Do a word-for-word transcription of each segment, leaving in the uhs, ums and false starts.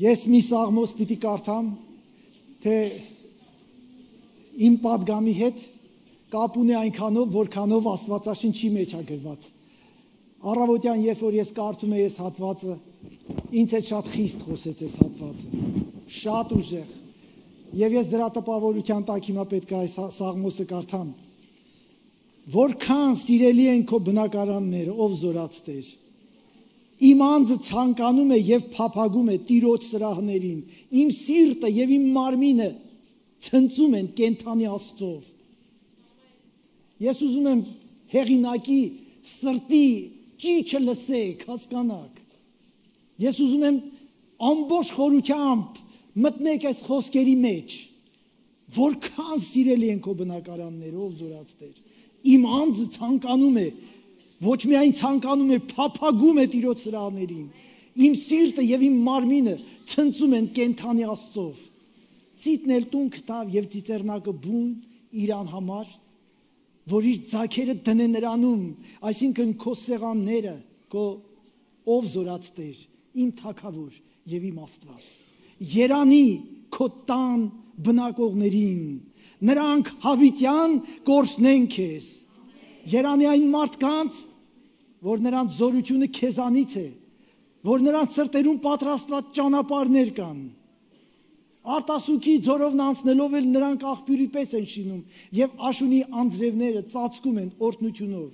Ես մի սաղմոս պիտի կարդամ, թե իմ պատգամի հետ կապ ունի այնքանով, որքանով Աստվածաշնչի մեջ է գրված։ Առավոտյան, երբ որ ես կարդում եմ այս հատվածը, ինձ հետ շատ խիստ խոսեց այս հատվածը, շատ ուժեղ։ Եվ ես դրա տպավորության տակ հիմա պետք է այս սաղմոսը կարդամ։ Որքան սիրելի են քո բնակարանները, ով զորաց Տեր։ Իմ անձը ցանկանում է եւ փափագում է Տիրոջ սրահներին, իմ սիրտը եւ իմ մարմինը ցնծում են կենթանի Աստծով։ Ես ուզում եմ հեղինակի սրտի ճիչը լսեք, հասկանաք։ Ես ուզում եմ ամբողջ խորությամբ մտնեք այս խոսքերի մեջ, որքան սիրելի են քո բնակարանները, ով զորաց Տեր։ Իմ անձը ցանկանում է, ոչ միայն ցանկանում է, փափագում է Տիրոջ սրահներին։ Իմ սիրտը եւ իմ մարմինը ցնծում են կենթանի Աստծով։ Ծիծն էլ տուն գտավ եւ ծիծեռնակը բուն իրան համար, որ իր ձագերը դնե նրանում, այսինքն քո սեղանները, քո ով զորաց Տեր, իմ թագավոր եւ իմ Աստված։ Երանի քո տան բնակողներին, նրանք հավիտյան կորցնեն քեզ։ Երանի այն մարդկանց, որ նրանց զորությունը քեզանից է, որ նրանց սրտերում պատրաստված ճանապարհներ կան։ Արտասուքի ձորովն անցնելով էլ նրանք աղբյուրի պես են շինում եւ աշունի անձրևները ծածկում են օրհնությունով։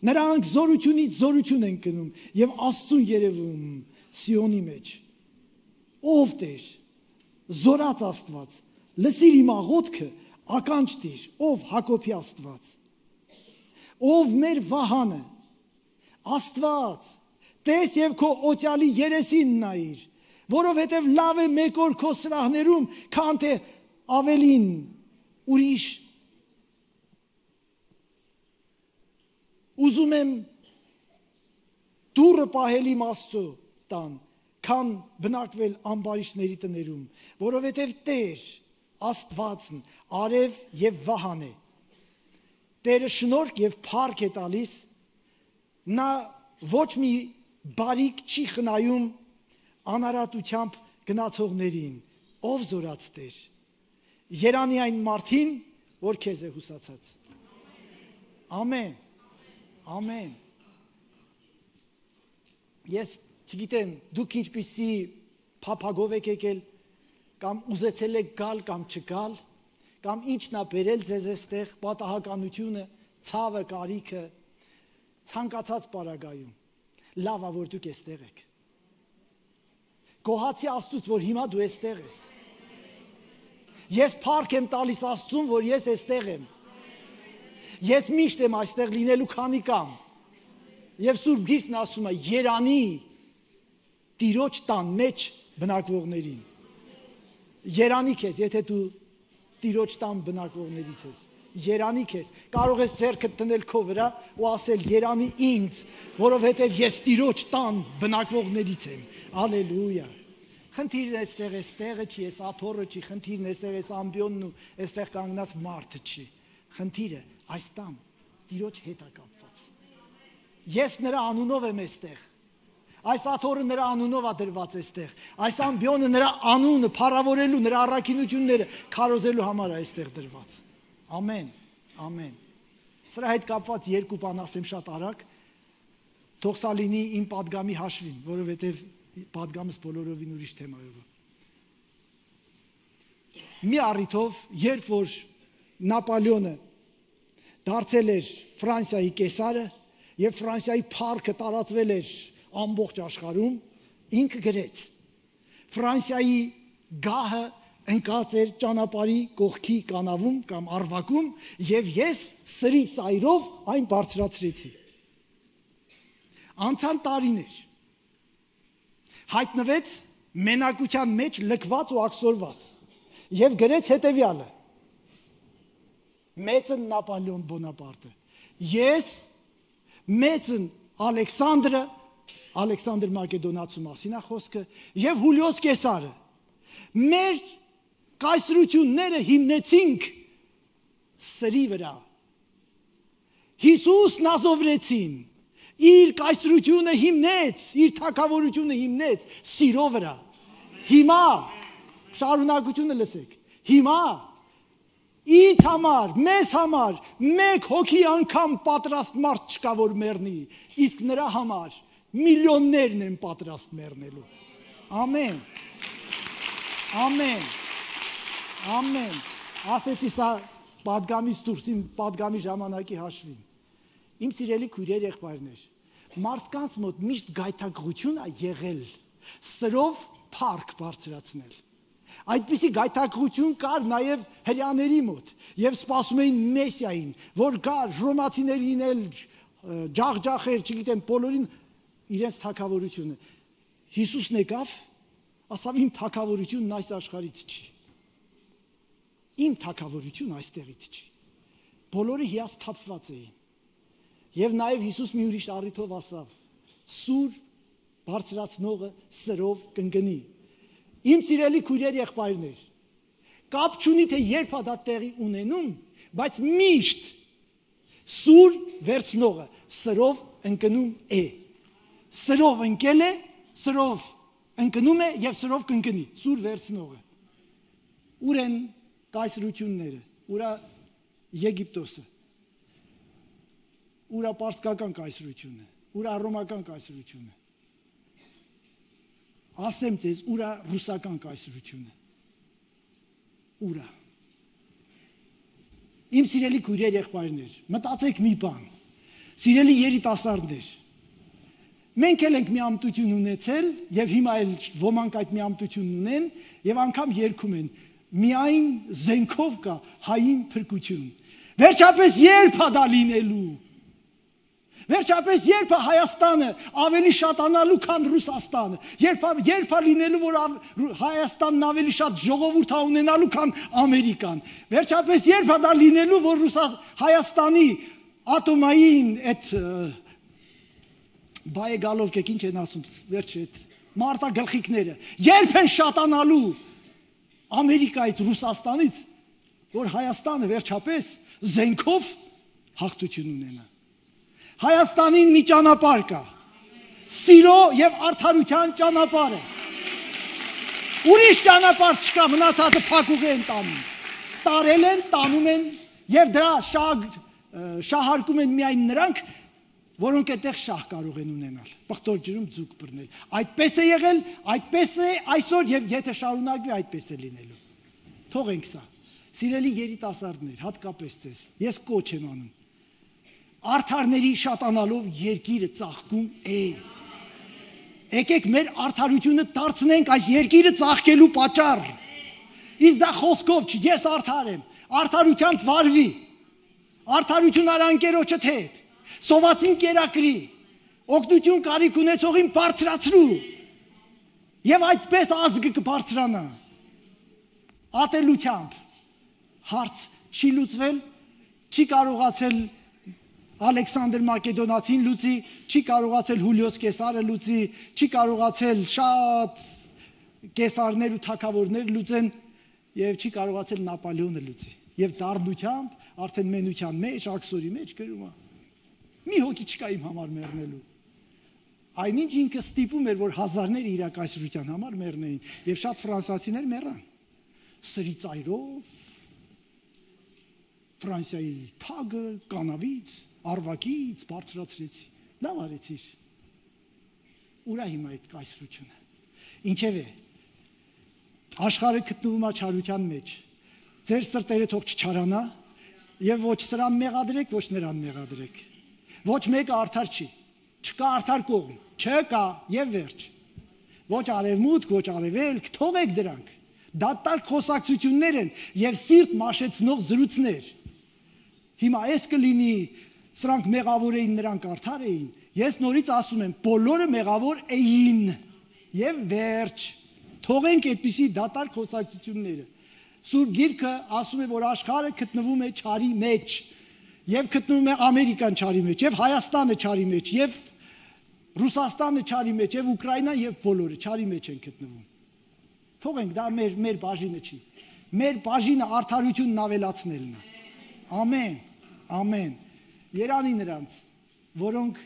Նրանք զորությունից զորություն են գնում եւ Աստծուն երևում Սիոնի մեջ։ Ով Տեր, զորաց Աստված, լսիր իմ աղոթքը, ականջ տիր, ով Հակոբի Աստված։ Ով մեր վահանը, Աստված, տես եւ քո օծյալի երեսին նայիր, որովհետեւ լավ է մեկ օր քո սրահներում, քան թե ավելին ուրիշ։ Ուզում եմ դուրը պահել իմ Աստծո տան, քան բնակվել ամբարիշների տներում, որովհետեւ Տեր Աստվածն արև եւ վահան է։ Տերը շնորհք եւ փառք է տալիս, նա ոչ մի բարիք չի խնայում անարատությամբ գնացողներին, ով զորաց Տեր։ Երանի այն մարդին, որ քեզ է հուսացած։ Ամեն։ Ամեն։ Ես չգիտեմ, դուք ինչպիսի փափագով եք եկել, կամ ուզեցել եք գալ, կամ չգալ, կամ ինչն է բերել ձեզ այստեղ, պատահականությունը, ցավը, կարիքը, ցանկացած պարագայում։ Լավ է, որ դուք այստեղ եք։ Գոհացի Աստծուց, որ հիմա դու այստեղ ես։ Ես փառք եմ տալիս Աստծուն, որ ես այստեղ եմ։ Ես միշտ եմ այստեղ լինելու քանի կամ։ Եվ Սուրբ Գիրքն ասում է. երանի Տիրոջ տան մեջ բնակվողներին։ Երանի քեզ, եթե դու Տիրոջ տան բնակվողներից ես, երանի քեզ, կարող ես ձեռքդ դնել քո վրա ու ասել երանի ինձ, որովհետև ես Տիրոջ տան բնակվողներից եմ, ալելույա։ Խնդիրն էստեղ էս տեղը չի, էս աթոռը չի, խնդիրն էստեղ էս ամբիոնն ու էստեղ կանգնած մարդը չի, խնդիրը այս տան Տիրոջ հետ է կապված։ Ես նրա անունով եմ էստեղ, այս աթոռը նրա անունով է դրված էստեղ, այս ամբիոնը նրա անունը փառավորելու, նրա առաքինությունները քարոզելու համար է այստեղ դրված։ Ամեն, ամեն։ Սրա հետ կապված երկու բան ասեմ շատ արագ, թող սա լինի իմ պատգամի հաշվին, որովհետև պատգամս բոլորովին ուրիշ թեմայով է։ Մի առիթով, երբ որ Նապոլեոնը դարձել էր Ֆրանսիայի կեսարը եւ Ֆրանսիայի փառքը տարածվել էր ամբողջ աշխարհում, ինքը գրեց. Ֆրանսիայի գահը ընկած էր ճանապարհի կողքի կանավում կամ արվակում եւ ես սրի ծայրով այն բարձրացրեցի։ Անցան տարիներ, հայտնվեց մենակության մեջ լքված ու աքսորված եւ գրեց հետեւյալը. մեծն Նապոլեոն Բոնապարտը, ես մեծն Ալեքսանդրը, Ալեքսանդր Մակեդոնացու մասին է խոսքը, եւ Հուլիոս Կեսարը մեր կայսրությունները հիմնեցինք սրի վրա։ Հիսուսն ազովրեցին, իր կայսրությունը հիմնեց, իր թագավորությունը հիմնեց սիրո վրա։ Հիմա շարունակությունը լսեք։ Հիմա ինձ համար, մեզ համար մեկ հոգի անգամ պատրաստ մարդ չկա, որ մեռնի, իսկ նրա համար միլիոններն են պատրաստ մեռնելու։ Ամեն։ Ամեն։ Ամեն։ Ասեցի սա պատգամից դուրս իմ պատգամի ժամանակի հաշվին։ Իմ սիրելի քույրեր, եղբայրներ, մարդկանց մոտ միշտ գայթակղություն է եղել սրով փառք բարձրացնել։ Այդպիսի գայթակղություն կար նաև հրեաների մոտ եւ սպասում էին Մեսիային, որ գար ռոմացիներին էլ ջախջախեր, չգիտեմ, բոլորին իրենց թագավորությունը։ Հիսուսն եկավ, ասավ իմ թագավորությունն այս աշխարհից չի։ Իմ թագավորությունը այստեղից չի։ Բոլորը հիասթափված էին։ Եվ նաև Հիսուս մի ուրիշ առիթով ասավ. սուր բարձրացնողը սրով կընկնի։ Իմ սիրելի քույրեր, եղբայրներ, կապ չունի թե երբ է դա տեղի ունենում, բայց միշտ սուր վերցնողը սրով ընկնում է։ Սրով ընկել է, սրով ընկնում է եւ սրով կընկնի։ Սուր վերցնողը։ Ուր են կայսրությունները, ուրա Եգիպտոսը, ուրա պարսկական կայսրությունը, ուրա ռոմական կայսրությունը։ Ասեմ ձեզ, ուրա ռուսական կայսրությունը։ Ուրա։ Իմ սիրելի քույրեր, եղբայրներ, մտածեք մի բան։ Սիրելի երիտասարդներ, մենք էլ ենք մի ամտություն ունեցել եւ հիմա էլ ոմանք այդ մի ամտություն ունեն եւ անգամ երգում են. միայն զենքով կա հային փրկություն։ Վերջապես երբ է դա լինելու։ Վերջապես երբ է Հայաստանը ավելի շատանալու, քան Ռուսաստանը։ Երբ երբ է լինելու, որ Հայաստանն ավելի շատ ժողովուրդ է ունենալու, քան Ամերիկան։ Վերջապես երբ է դա լինելու, որ Հայաստանի ատոմային այդ բայե գալով կեք ինչ են ասում, վերջ այդ մարտագլխիկները, երբ են շատանալու Ամերիկայից, Ռուսաստանից, որ Հայաստանը վերջապես զենքով հաղթություն ունենա։ Հայաստանին մի ճանապարհ կա։ Սիրո եւ արդարության ճանապարհը։ Ուրիշ ճանապարհ չկա, մնացածը փակուղի են տանում։ Տարել են, տանում են եւ դրա շահ շահարկում են միայն նրանք, որոնք այդտեղ շահ կարող են ունենալ, պղտոր ջրում ձուկ բռնել։ Այդպես է եղել, այդպես է այսօր եւ եթե շարունակվի այդպես է լինելու։ Թողենք սա։ Սիրելի երիտասարդներ, հատկապես ձեզ, ես կոչ եմ անում։ Արդարների շատանալով երկիրը ծաղկում է։ Եկեք մեր արդարությունը դարձնենք այս երկիրը ծաղկելու պատճառ։ Իսկ դա խոսքով չի, ես արդար եմ, արդարությամբ վարվի, արդարություն արա ընկերոջդ հետ, սովածին կերակրի, օգնություն կարիք ունեցողին բարձրացրու եւ այդպես ազգը կբարձրանա։ Ատելությամբ հարց չի լուծվել, չի կարողացել Ալեքսանդր Մակեդոնացին լուծի, չի կարողացել Հուլիոս Կեսարը լուծի, չի կարողացել շատ կեսարներ ու թագավորներ լուծեն եւ չի կարողացել Նապոլեոնը լուծի։ Եվ դառնությամբ արդեն մենության մեջ, աքսորի մեջ գրում է. մի հոգի չկա իմ համար մեռնելու։ Այնինչ ինքը ստիպում էր, որ հազարներ իրակայսրության համար մեռնեին եւ շատ ֆրանսիացիներ մեռան։ Սրի ծայրով Ֆրանսիայի թագը կանավից, արվակից բարձրացրեցի։ Լավ արեցիր։ Ուրա հիմա այդ կայսրությունը։ Ինչևէ, աշխարհը գտնվում է չարության մեջ։ Ձեր սրտերը թող չչարանա եւ ոչ սրան մեղադրեք, ոչ նրան մեղադրեք։ Ոչ մեկը արդար չի։ Չկա արդար կողմ, չկա եւ վերջ։ Ոչ արևմուտք, ոչ արևելք, թողեք դրանք։ Դատարկ խոսակցություններ են եւ սիրտ մաշեցնող զրույցներ։ Հիմա այս կլինի, սրանք մեղավոր էին, նրանք արդար էին։ Ես նորից ասում եմ, բոլորը մեղավոր էին եւ վերջ։ Թողենք այդպիսի դատարկ խոսակցությունները։ Սուրբ Գիրքը ասում է, որ աշխարհը գտնվում է չարի մեջ եւ գտնվում է Ամերիկան չարի մեջ եւ Հայաստանը չարի մեջ եւ Ռուսաստանը չարի մեջ եւ Ուկրաինան եւ բոլորը չարի մեջ են գտնվում։ Թողենք, դա մեր մեր բաժինը չի։ Մեր բաժինը արդարությունն ավելացնելն է։ Ամեն, ամեն։ Երանի նրանց, որոնք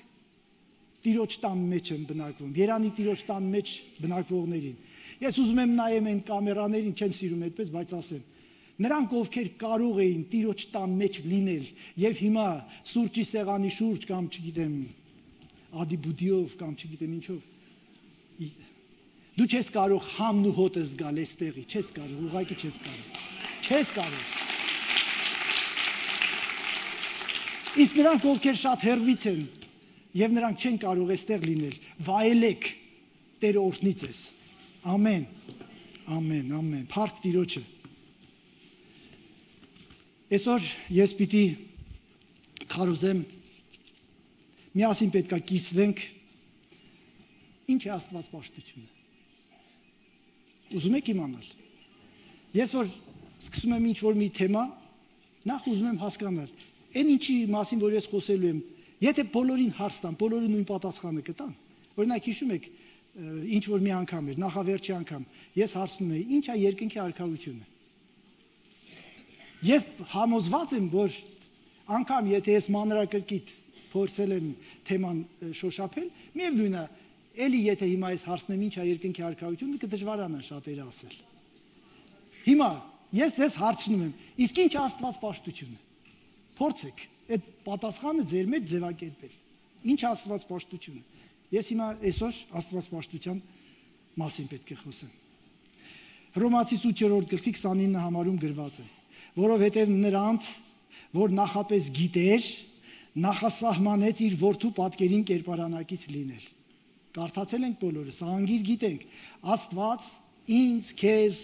Տիրոջ տան մեջ են բնակվում, երանի Տիրոջ տան մեջ բնակվողներին։ Ես ուզում եմ նայեմ այն կամերաներին, չեմ սիրում այդպես, բայց ասեմ։ Նրանք, ովքեր կարող էին Տիրոջ տան մեջ լինել եւ հիմա սուրճի սեղանի շուրջ կամ չգիտեմ ադիբուդիով կամ չգիտեմ ինչով դու չես կարող համն ու հոտը զգալ այստեղի, չես կարող, ուղղակի չես կարող։ Չես կարող։ Իսկ նրանք, ովքեր շատ հեռվից են եւ նրանք չեն կարող այստեղ լինել, վայելեք Տերը օրհնի ձեզ։ Ամեն։ Ամեն, ամեն։ Փառք Տիրոջը։ Այսօր ես պիտի քարոզեմ, միասին պետք է կիսվենք, ինչ է Աստված պաշտությունը։ Ուզում եք իմանալ։ Ես որ սկսում եմ ինչ-որ մի թեմա, նախ ուզում եմ հասկանալ, այն ինչի մասին, որ ես խոսելու եմ, եթե բոլորին հարց տան, բոլորը նույն պատասխանը կտան, օրինակ հիշում եք, ինչ-որ մի անգամ էր, նախավերջի անգամ, ես հարցնում էի, ինչ է երկնքի արքայությունը։ Ես համոզված եմ, որ անգամ եթե ես մանրակրկիտ փորձել եմ թեման շոշափել, միևնույն է, էլի եթե հիմա ես հարցնեմ ինչ է երկնքի արքայությունը, կդժվարանա շատերը ասել։ Հիմա ես ես հարցնում եմ, իսկ ինչ է Աստվածպաշտությունը։ Փորձեք այդ պատասխանը ձեր մեջ ձևակերպել։ Ինչ է Աստվածպաշտությունը։ Ես հիմա այսօր Աստվածպաշտության մասին պետք է խոսեմ։ Հռոմացիս ութերորդ գլխի քսանինը համարում գրված է, որովհետև նրանց, որ նախապես գիտեր, նախասահմանեց իր որդու պատկերին կերպարանակից լինել։ Կարդացել ենք բոլորս, անգիր գիտենք, Աստված ինձ, քեզ,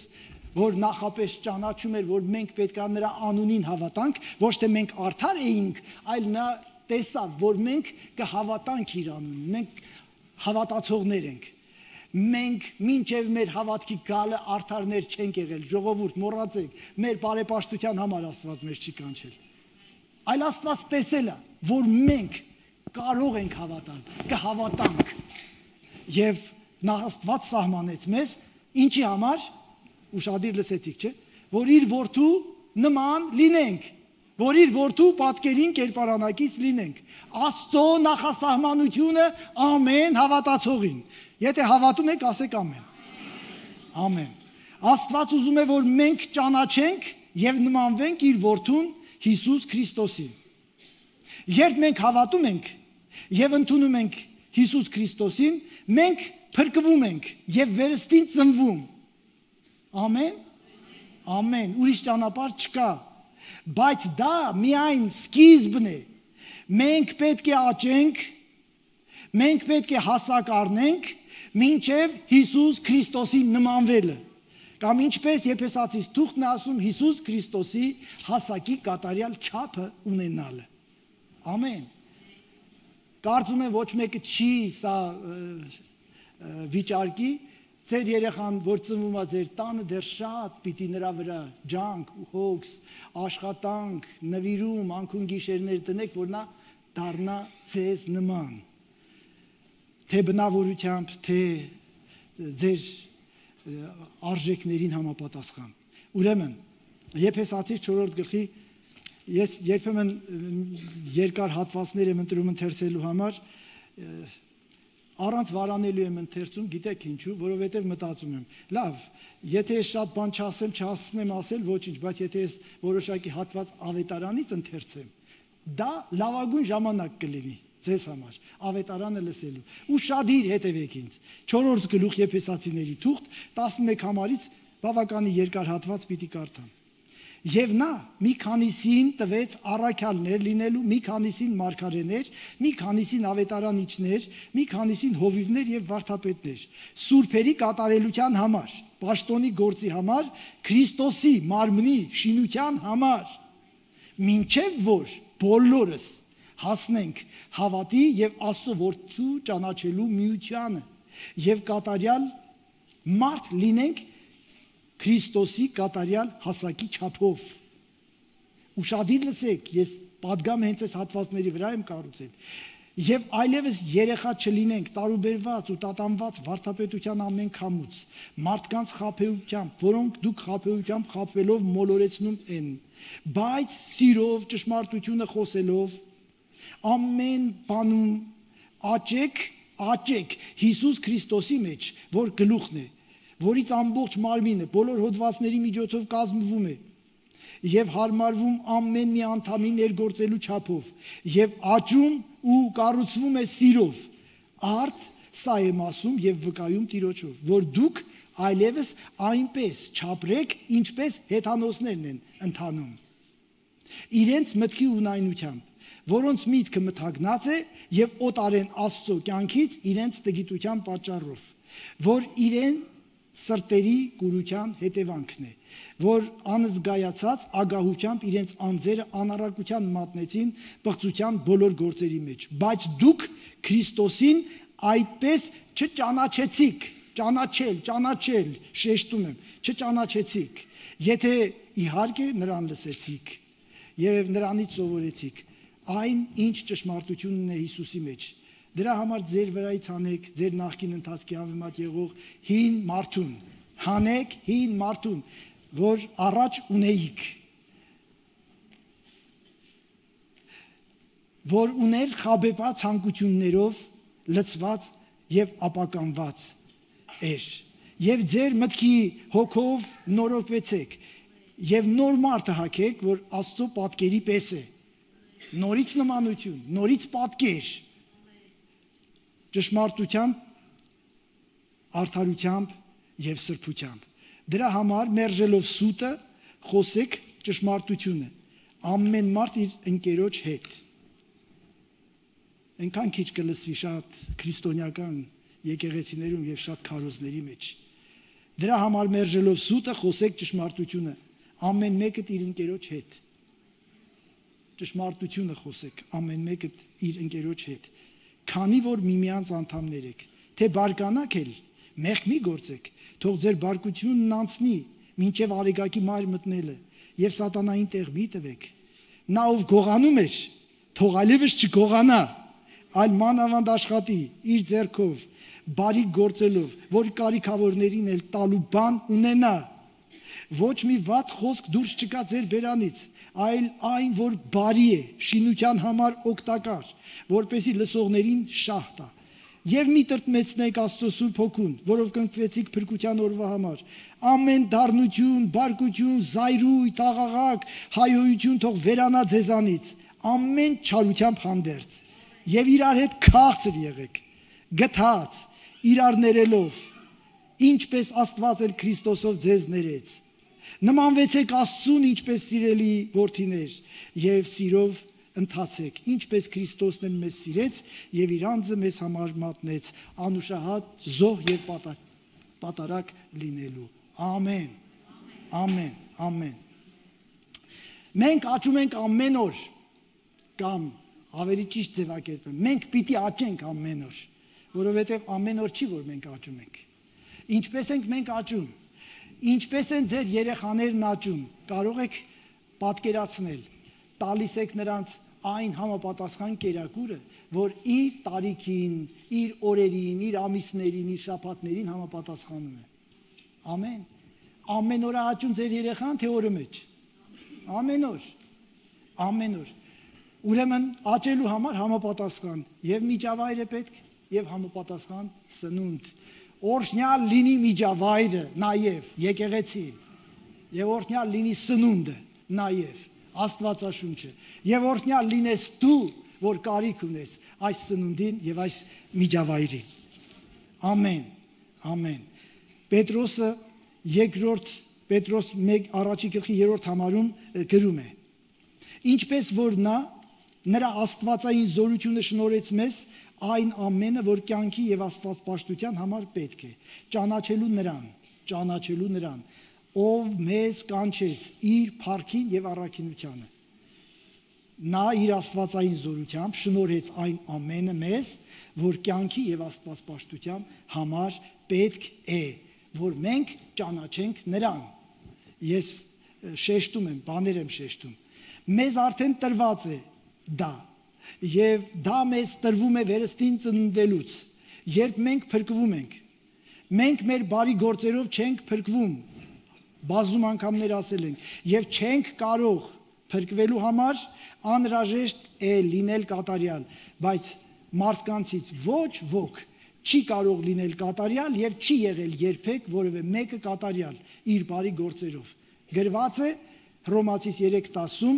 որ նախապես ճանաչում էր, որ մենք պետք է նրա անունին հավատանք, ոչ թե մենք արդար էինք, այլ նա տեսավ, որ մենք կհավատանք իր անունին, մենք հավատացողներ ենք։ Մենք մինչև մեր հավատքի գալը արդարներ չենք եղել, ժողովուրդ, մոռացեք, մեր բարեպաշտության համար Աստված մեզ չի կանչել։ Այլ Աստված տեսել է, որ մենք կարող ենք հավատալ, կհավատանք։ Եվ նա Աստված սահմանեց մեզ ինչի համար, ուշադիր լսեցիք, չէ՞, որ իր որդու նման լինենք, որ իր որդու պատկերին կերպարանակից լինենք։ Աստծո նախասահմանությունը ամեն հավատացողին։ Եթե հավատում եք, ասեք ամեն։ Ամեն։ Աստված ուզում է, որ մենք ճանաչենք եւ նմանվենք իր որդուն Հիսուս Քրիստոսին։ Երբ մենք հավատում ենք եւ ընդունում ենք Հիսուս Քրիստոսին, մենք փրկվում ենք եւ վերստին ծնվում։ Ամեն։ Ամեն։ Ուրիշ ճանապարհ չկա։ Բայց դա միայն սկիզբն է։ Մենք պետք է աճենք, մենք պետք է հասակ առնենք մինչև Հիսուս Քրիստոսի նմանվելը։ Կամ ինչպես Եփեսացիս թուղթն է ասում Հիսուս Քրիստոսի հասակի կատարյալ չափը ունենալը։ Ամեն։ Կարծում եմ ոչ մեկը չի սա վիճարկի, ձեր երեխան, որ ծնվում է ձեր տանը, դեռ շատ պիտի նրա վրա ջանք, հոգս, աշխատանք, նվիրում, անքուն գիշերներ տնեք, որ նա դառնա ձեզ նման։ Թե բնավորությամբ, թե ձեր արժեքներին համապատասխան։ Ուրեմն, Եփեսացիս չորրորդ գլխի ես երբեմն երկար հատվածներ եմ ընտրում ընթերցելու համար, առանց վարանելու եմ ընթերցում, գիտեք ինչու, որովհետև մտածում եմ, լավ, եթե ես շատ բան չասեմ, չհասցնեմ ասել, ոչինչ, բայց եթե ես որոշակի հատված ավետարանից ընթերցեմ, դա լավագույն ժամանակ կլինի ձեզ համար, ավետարանը լսելու։ Ուշադիր հետևեք ինձ։ չորրորդ գլուխ Եփեսացիների թուղթ, տասնմեկ համարից բավականին երկար հատված պիտի կարդամ։ Եվ նա մի քանիսին տվեց առաքյալներ լինելու, մի քանիսին մարգարեներ, մի քանիսին ավետարանիչներ, մի քանիսին հովիվներ եւ վարդապետներ, սուրբերի կատարելության համար, պաշտոնի գործի համար, Քրիստոսի մարմնի շինության համար, մինչև որ բոլորս հասնենք հավատի եւ Աստծո որդու ճանաչելու միությանը եւ կատարյալ մարդ լինենք Քրիստոսի կատարյալ հասակի չափով։ Ուշադիր լսեք, ես պատգամ հենց այս հատվածների վրա եմ կառուցել։ Եվ այլևս երեխա չլինենք տարուբերված ու տատանված վարդապետության ամեն քամուց, մարդկանց խաբեությամբ, որոնք դուք խաբեությամբ խաբվելով մոլորեցնում են, բայց սիրով, ճշմարտությունը խոսելով, ամեն բանում աճեք, աճեք Հիսուս Քրիստոսի մեջ, որ գլուխն է, որից ամբողջ մարմինը բոլոր հոդվածների միջոցով կազմվում է եւ հարմարվում ամեն մի անդամի ներգործելու չափով եւ աճում ու կառուցվում է սիրով, արդ սա եմ ասում եւ վկայում Տիրոջով, որ դուք այլևս այնպես չապրեք, ինչպես հեթանոսներն են ընթանում, իրենց մտքի ունայնությամբ, որոնց միտքը մթագնած է եւ օտարեն Աստծո կյանքից իրենց տգիտության պատճառով, որ իրեն սրտերի կուրության հետևանքն է, որ անզգայացած ագահությամբ իրենց անձերը անառակության մատնեցին պղծության բոլոր գործերի մեջ, բայց դուք Քրիստոսին այդպես չճանաչեցիք, ճանաչել, ճանաչել, շեշտում եմ, չճանաչեցիք, եթե իհարկե նրան լսեցիք եւ նրանից սովորեցիք, այն ինչ ճշմարտությունն է Հիսուսի մեջ, դրա համար ձեր վրայից հանեք ձեր նախկին ընթացքի համեմատ եղող հին մարդուն, հանեք հին մարդուն, որ առաջ ունեիք, որ ուներ խաբեբաց ցանկություններով լցված եւ ապականված էր, եւ ձեր մտքի հոգով նորոգվեցեք եւ նոր մարդը հագեք, որ Աստծո պատկերի պես է, նորից նմանություն, նորից պատկեր, ճշմարտությամբ, արդարությամբ եւ սրբությամբ։ Դրա համար մերժելով սուտը խոսեք ճշմարտությունը, ամեն մարդ իր ընկերոջ հետ։ Այնքան քիչ կլսվի շատ քրիստոնեական եկեղեցիներում եւ շատ քարոզների մեջ։ Դրա համար մերժելով սուտը խոսեք ճշմարտությունը, ամեն մեկը իր ընկերոջ հետ։ Ճշմարտությունը խոսեք, ամեն մեկը իր ընկերոջ հետ։ Քանի որ միմյանց անդամներ եք, թե բարկանաք էլ, մեղք մի գործեք, թող ձեր բարկությունն անցնի, մինչև արեգակի մայր մտնելը, եւ սատանային տեղ մի տվեք։ Նա ով գողանում էր, թող այլևս չգողանա, այլ մանավանդ աշխատի իր ձեռքով, բարիք գործելով, որ կարիքավորներին էլ տալու բան ունենա։ Ոչ մի վատ խոսք դուրս չկա ձեր բերանից, այլ այն, որ բարի է, շինության համար օգտակար, որպեսզի լսողներին շահ տա։ Եվ մի տրտմեցնեք Աստծո Սուրբ Հոգուն, որով կնքվեցիք փրկության օրվա համար։ Ամեն դառնություն, բարկություն, զայրույթ, աղաղակ, հայոյություն թող վերանա ձեզանից, ամեն չարությամբ հանդերձ։ Եվ իրար հետ քաղցր եղեք, գթած, իրար ներելով, ինչպես Աստված էլ Քրիստոսով ձեզ ներեց։ Նմանվեցեք Աստծուն, ինչպես սիրելի որդիներ, եւ սիրով ընթացեք, ինչպես Քրիստոսն էլ մեզ սիրեց եւ իր անձը մեզ համար մատնեց, անուշահատ զոհ եւ պատարակ լինելու։ Ամեն։ Ամեն, ամեն։ Մենք աճում ենք ամեն օր, կամ ավելի ճիշտ ձևակերպեմ, մենք պիտի աճենք ամեն օր, որովհետեւ ամեն օր չի, որ մենք աճում ենք։ Ինչպես ենք մենք աճում, ինչպես են ձեր երեխաներն աճում, կարող եք պատկերացնել, տալիս եք նրանց այն համապատասխան կերակուրը, որ իր տարիքին, իր օրերին, իր ամիսներին, իր շաբաթներին համապատասխանում է։ Ամեն։ Ամեն օր աճում ձեր երեխան, թե օրը մեջ։ Ամեն օր։ Ամեն օր։ Ուրեմն աճելու համար համապատասխան եւ միջավայր է պետք եւ համապատասխան սնունդ։ Օրհնյալ լինի միջավայրը, նաեւ եկեղեցին, եւ օրհնյալ լինի սնունդը, նաեւ Աստվածաշունչը, եւ օրհնյալ լինես դու, որ կարիք ունես այս սնունդին եւ այս միջավայրին։ Ամեն, ամեն։ Պետրոսը երկրորդ Պետրոս մեկ առաջի գլխի երրորդ համարում գրում է. ինչպես որ նա նրա աստվածային զորությունը շնորհեց մեզ այն ամենը, որ կյանքի եւ աստվածպաշտության համար պետք է, ճանաչելու նրան, ճանաչելու նրան, ով մեզ կանչեց իր փառքին եւ առաքինությանը։ Նա իր աստվածային զորությամբ շնորհեց այն ամենը մեզ, որ կյանքի եւ աստվածպաշտության համար պետք է, որ մենք ճանաչենք նրան։ Ես շեշտում եմ, բաներ եմ շեշտում։ Մեզ արդեն տրված է դա, եւ դա մեզ տրվում է վերստին ծնվելուց, երբ մենք փրկվում ենք։ Մենք մեր բարի գործերով չենք փրկվում, բազում անգամներ ասել ենք, եւ չենք կարող փրկվելու համար անհրաժեշտ է լինել կատարյալ, բայց մարդկանցից ոչ ոք չի կարող լինել կատարյալ եւ չի եղել երբեք որևէ մեկը կատարյալ իր բարի գործերով։ Գրված է Հռոմացիս երեք տասում,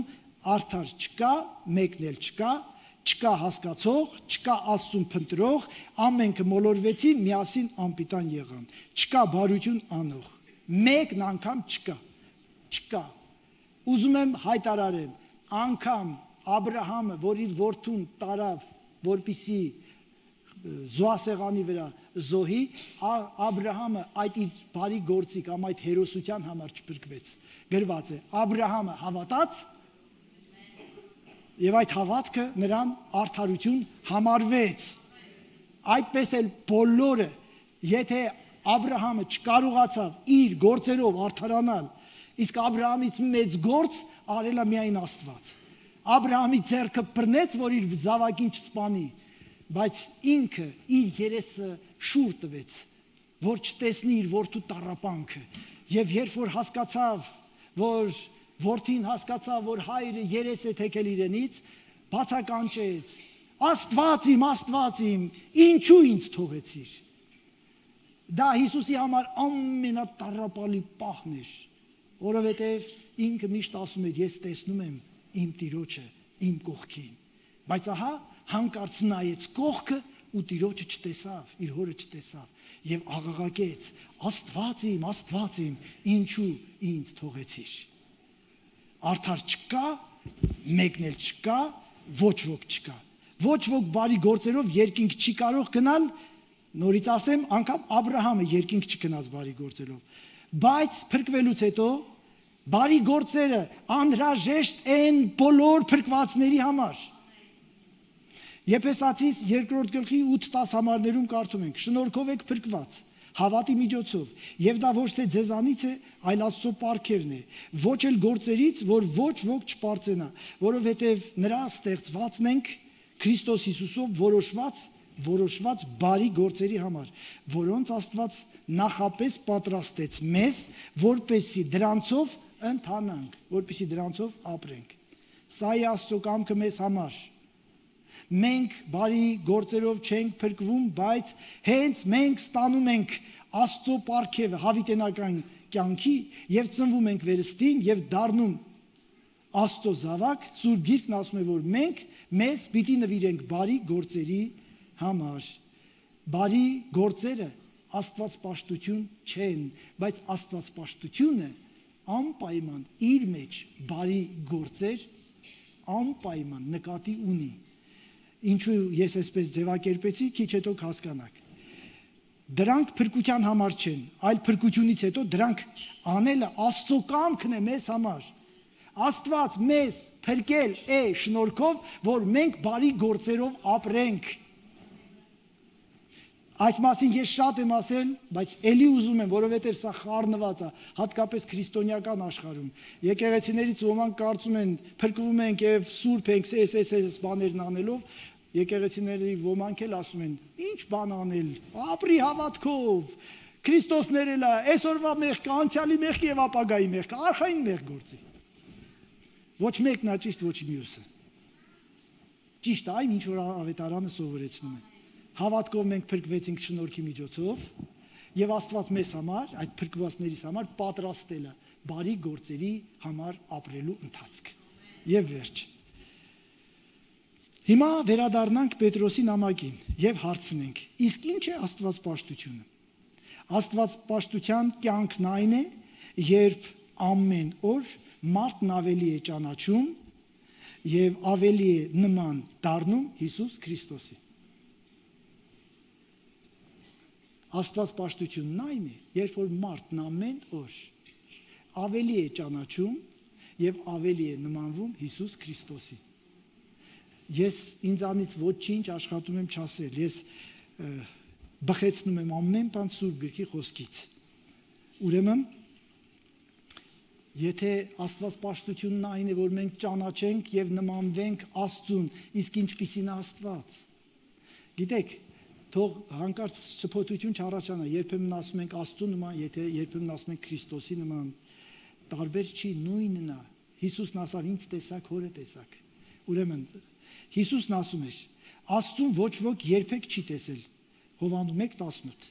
արդար չկա, մեկն էլ չկա, չկա հասկացող, չկա Աստծուն փնտրող, ամենքը մոլորվեցին, միասին անպիտան եղան։ Չկա բարություն անող, մեկն անգամ չկա, չկա։ Ուզում եմ հայտարարեմ, անգամ Աբրահամը, որ իր որդուն տարավ, որպիսի զոհասեղանի վրա զոհի, Աբրահամը այդ իր բարի գործի կամ այդ հերոսության համար չփրկվեց։ Գրված է, Աբրահամը հավատաց եւ այդ հավատքը նրան արդարություն համարվեց։ Այդպես էլ բոլորը, եթե Աբրահամը չկարողացավ իր գործերով արդարանալ, իսկ Աբրահամից մեծ գործ արել է միայն Աստված։ Աբրահամի ձեռքը բռնեց, որ իր զավակին չսպանի, բայց ինքը իր երեսը շուռ տվեց, որ չտեսնի իր որդու տառապանքը։ Եվ երբ որ հասկացավ, որ որդին հասկացավ, որ հայրը երես է թեքել իրենից, բացականչեց. Աստված իմ, Աստված իմ, ինչու ինձ թողեցիր։ Դա Հիսուսի համար ամենատառապալի պահն էր, որովհետև ինքը միշտ ասում էր, ես տեսնում եմ իմ Տիրոջը, իմ կողքին, բայց ահա հանկարծ նայեց կողքը ու Տիրոջը չտեսավ, իր հորը չտեսավ եւ աղաղակեց. Աստված իմ, Աստված իմ, ինչու ինձ թողեցիր։ Արդար չկա, մեկն էլ չկա, ոչ ոք չկա։ Ոչ ոք բարի գործերով երկինք չի կարող գնալ, նորից ասեմ, անգամ Աբրահամը երկինք չգնաց բարի գործերով։ Բայց փրկվելուց հետո բարի գործերը անհրաժեշտ են բոլոր փրկվածների համար։ Եփեսացիս երկրորդ գլխի ութ տասը համարներում կարդում ենք. շնորհքով եք փրկված հավատի միջոցով, եւ դա ոչ թե ձեզանից է, այլ Աստծո պարգևն է, ոչ էլ գործերից, որ ոչ ոք չպարծենա, որովհետեւ նրա ստեղծվածն ենք Քրիստոս Հիսուսով որոշված որոշված բարի գործերի համար, որոնց Աստված նախապես պատրաստեց մեզ, որպեսզի դրանցով ընթանանք, որպեսզի դրանցով ապրենք։ Սա է Աստծո կամքը մեզ համար։ Մենք բարի գործերով չենք փրկվում, բայց հենց մենք ստանում ենք Աստծո պարգևը հավիտենական կյանքի եւ ծնվում ենք վերստին եւ դառնում Աստծո զավակ։ Սուրբ Գիրքն ասում է, որ մենք մեզ պիտի նվիրենք բարի գործերի համար։ Բարի գործերը աստվածպաշտություն չեն, բայց աստվածպաշտությունը անպայման իր մեջ բարի գործեր անպայման նկատի ունի։ Ինչու ես այսպես ձևակերպեցի, քիչ հետո կհասկանաք։ Դրանք փրկության համար չեն, այլ փրկությունից հետո դրանք անելը Աստծո կամքն է մեզ համար։ Աստված մեզ փրկել է շնորհքով, որ մենք բարի գործերով ապրենք։ Այս մասին ես շատ եմ ասել, բայց ելի ուզում եմ, որովհետև սա խառնված է, հատկապես քրիստոնեական աշխարհում։ Եկեղեցիներից ոմանք կարծում են, փրկվում ենք եւ սուրբ ենք, էս էս էս բաներն անելով, եկեղեցիների ոմանք էլ ասում են, ինչ բան անել, ապրի հավատքով, Քրիստոս ներել է, այսօրվա մեղքը, անցյալի մեղքը եւ ապագայի մեղքը, արխային մեղք գործի։ Ոչ մեկն է ճիշտ, ոչ մյուսը։ Ճիշտ այն, ինչ որ ավետարանը սովորեցնում է։ Հավատքով մենք փրկվեցինք շնորհքի միջոցով եւ Աստված մեզ համար, այդ փրկվածներիս համար պատրաստել է բարի գործերի համար ապրելու ընթացք։ Եվ վերջ։ Հիմա վերադառնանք Պետրոսի նամակին եւ հարցնենք. իսկ ինչ է աստվածպաշտությունը։ Աստվածպաշտության կյանքն այն է, երբ ամեն օր մարդն ավելի է ճանաչում եւ ավելի է նման դառնում Հիսուս Քրիստոսի։ Աստվածպաշտությունն այն է, երբ որ մարդն ամեն օր ավելի է ճանաչում եւ ավելի է նմանվում Հիսուս Քրիստոսի։ Ես ինձանից ոչինչ աշխատում եմ չասել, ես բխեցնում եմ ամեն բան Սուրբ Գրքի խոսքից։ Ուրեմն, եթե աստվածպաշտությունն այն է, որ մենք ճանաչենք եւ նմանվենք Աստծուն, իսկ ինչպիսին է Աստված։ Գիտեք, թող հանկարծ շփոթություն չառաջանա, երբեմն ասում ենք Աստծու նման, եթե երբեմն ասում ենք Քրիստոսի նման, տարբեր չի, նույնն է։ Հիսուսն ասավ, ինձ տեսակ, հորը տեսակ։ Ուրեմն, Հիսուսն ասում էր, Աստծուն ոչ ոք երբեք չի տեսել, Հովանու մեկ տասնութ։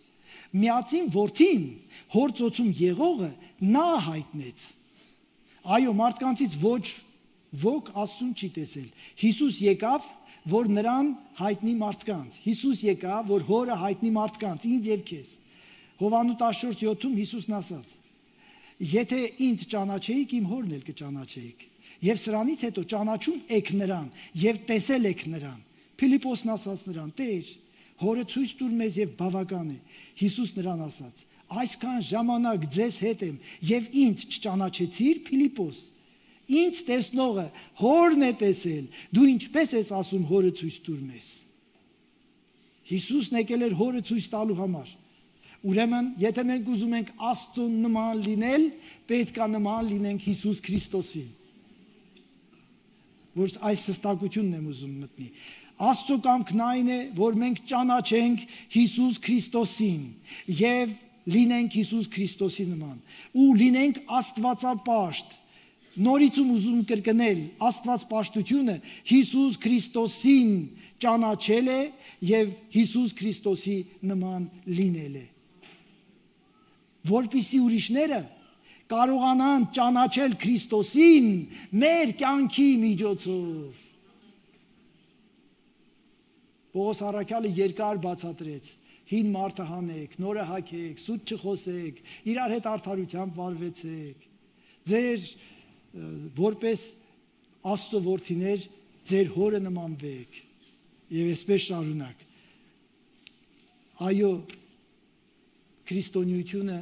Միածին որդին հոր ծոցում եղողը նա հայտնեց։ Այո, մարդկանցից ոչ ոք Աստծուն չի տեսել։ Հիսուս եկավ, որ նրան հայտնի մարդկանց։ Հիսուս եկավ, որ հորը հայտնի մարդկանց, ինձ եւ քեզ։ Հովանու տասնչորս յոթում Հիսուսն ասաց. Եթե ինձ ճանաչեիք, իմ հորն էլ կճանաչեիք։ Եվ սրանից հետո ճանաչում եք նրան եւ տեսել եք նրան։ Փիլիպոսն ասաց նրան. Տեր, հորը ցույց տուր մեզ եւ բավական է։ Հիսուս նրան ասաց. Այսքան ժամանակ ձեզ հետ եմ եւ ինձ չճանաչեցիր, Փիլիպոս։ Ինձ տեսնողը հորն է տեսել։ Դու ինչպես ես ասում հորը ցույց տուր մեզ։ Հիսուսն եկել էր հորը ցույց տալու համար։ Ուրեմն, եթե մենք ուզում ենք Աստծուն նման լինել, պետք է նման լինենք Հիսուս Քրիստոսին։ Որ այս հստակությունն եմ ուզում մտնի։ Աստծո կամքն այն է, որ մենք ճանաչենք Հիսուս Քրիստոսին եւ լինենք Հիսուս Քրիստոսի նման ու լինենք Աստվածապաշտ։ Նորից ուզում կրկնել Աստվածպաշտությունը Հիսուս Քրիստոսին ճանաչել է եւ Հիսուս Քրիստոսի նման լինել է։ Որպեսզի ուրիշները կարողանան ճանաչել Քրիստոսին մեր կյանքի միջոցով։ Պողոս առաքյալը երկար բացատրեց. հին մարդը հանեք, նորը հագեք, սուտ չխոսեք, իրար հետ արդարությամբ վարվեցեք։ Ձեր որպես Աստծո որդիներ ձեր հորը նմանվեք եւ այսպես շարունակ։ Այո, քրիստոնեությունը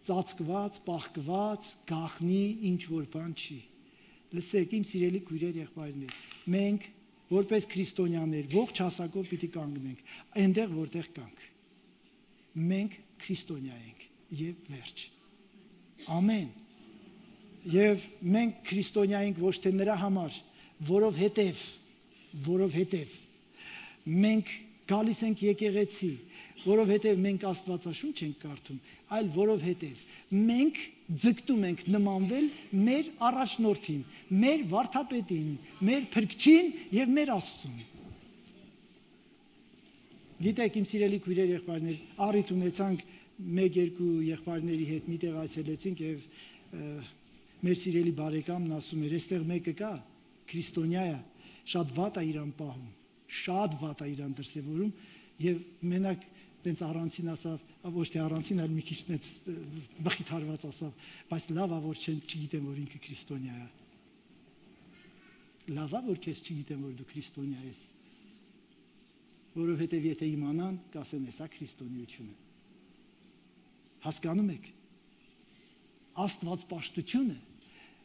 ծածկված, պահկված, գաղտնի ինչ որ բան չի։ Լսեք, իմ սիրելի քույրեր, եղբայրներ, մենք որպես քրիստոնյաներ ողջ հասակով պիտի կանգնենք այնտեղ, որտեղ կանք։ Մենք քրիստոնյա ենք եւ վերջ։ Ամեն։ Եվ մենք քրիստոնյա ենք ոչ թե նրա համար, որովհետև, որովհետև մենք գալիս ենք եկեղեցի, որովհետև մենք Աստվածաշունչ ենք կարդում, այլ որովհետև մենք ձգտում ենք նմանվել մեր առաջնորդին, մեր վարդապետին, մեր փրկչին եւ մեր Աստծուն։ Գիտեք, իմ սիրելի քույրեր, եղբայրներ, առիթ ունեցանք մեկ-երկու եղբայրների հետ միտեղ այցելեցինք եւ մեր սիրելի բարեկամն ասում էր, այստեղ մեկը կա, քրիստոնյա է, շատ վատ է իրան պահում, շատ վատ է իրան դրսևորում եւ մենակ տենց առանցին ասավ, ոչ թե առանցին, այլ մի քիչ տենց մխիթարված ասավ, բայց լավ է որ չեն չգիտեմ որ ինքը քրիստոնյա է։ Լավ է որ քեզ չգիտեմ որ դու քրիստոնյա ես։ Որովհետեւ եթե իմանան, կասեն էսա քրիստոնեությունը։ Հասկանում եք։ Աստվածպաշտությունը